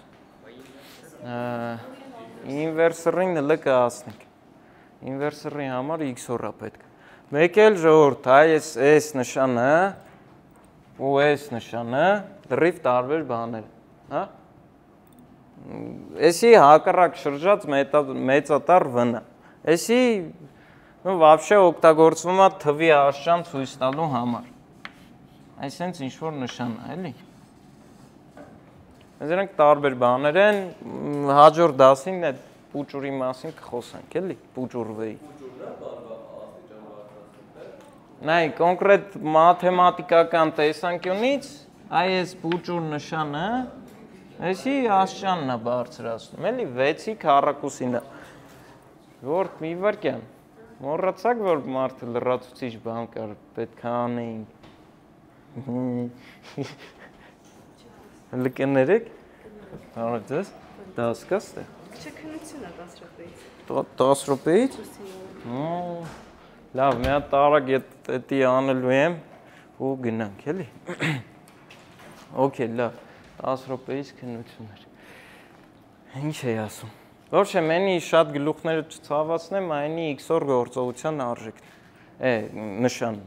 Ինվերսորին հլը կհասնենք։ Ինվերսորի համար X-օր է պետք։ Մեկ էլ ժողովուրդ, այս նշանը ու այս նշանը լրիվ տարբեր բաներ, հա։ Էսի հակառակ շրջած մեծատար V-ն է։ Էսի вообще օգտագործվում է թվի աշճան ցույց տալու համար։ Այսինքն ինչ-որ նշան է, էլի։ Դրանք տարբեր բաներ են, հաջորդ դասին այդ պուճուրի մասին կխոսենք, էլի, պուճուր V-ի։ նայ կոնկրետ մաթեմատիկական տեսանկյունից այս բուջուր նշանը այսի ասճանն է բարձրացնում, էլի 6-ի քառակուսին է։ Որ մի վարքյան, մոռացաք, որ մարդը լրացուցիչ բան կար, պետք է անեինք։ Լկներեք, հարցես, 10 կա ստե։ Չէ, քննություն է 10 րոպեից։ 10 րոպեից։ Լավ, մի հատ տարակ էդի անելու եմ ու գնանք, էլի։ Okay, լավ, 10 րոպեից քննություն էր։ Ինչ էի ասում։ Ոչ է, մենի շատ գլուխները չցավացնեմ, այնի X-օր գործողության արժեքն է, նշանն։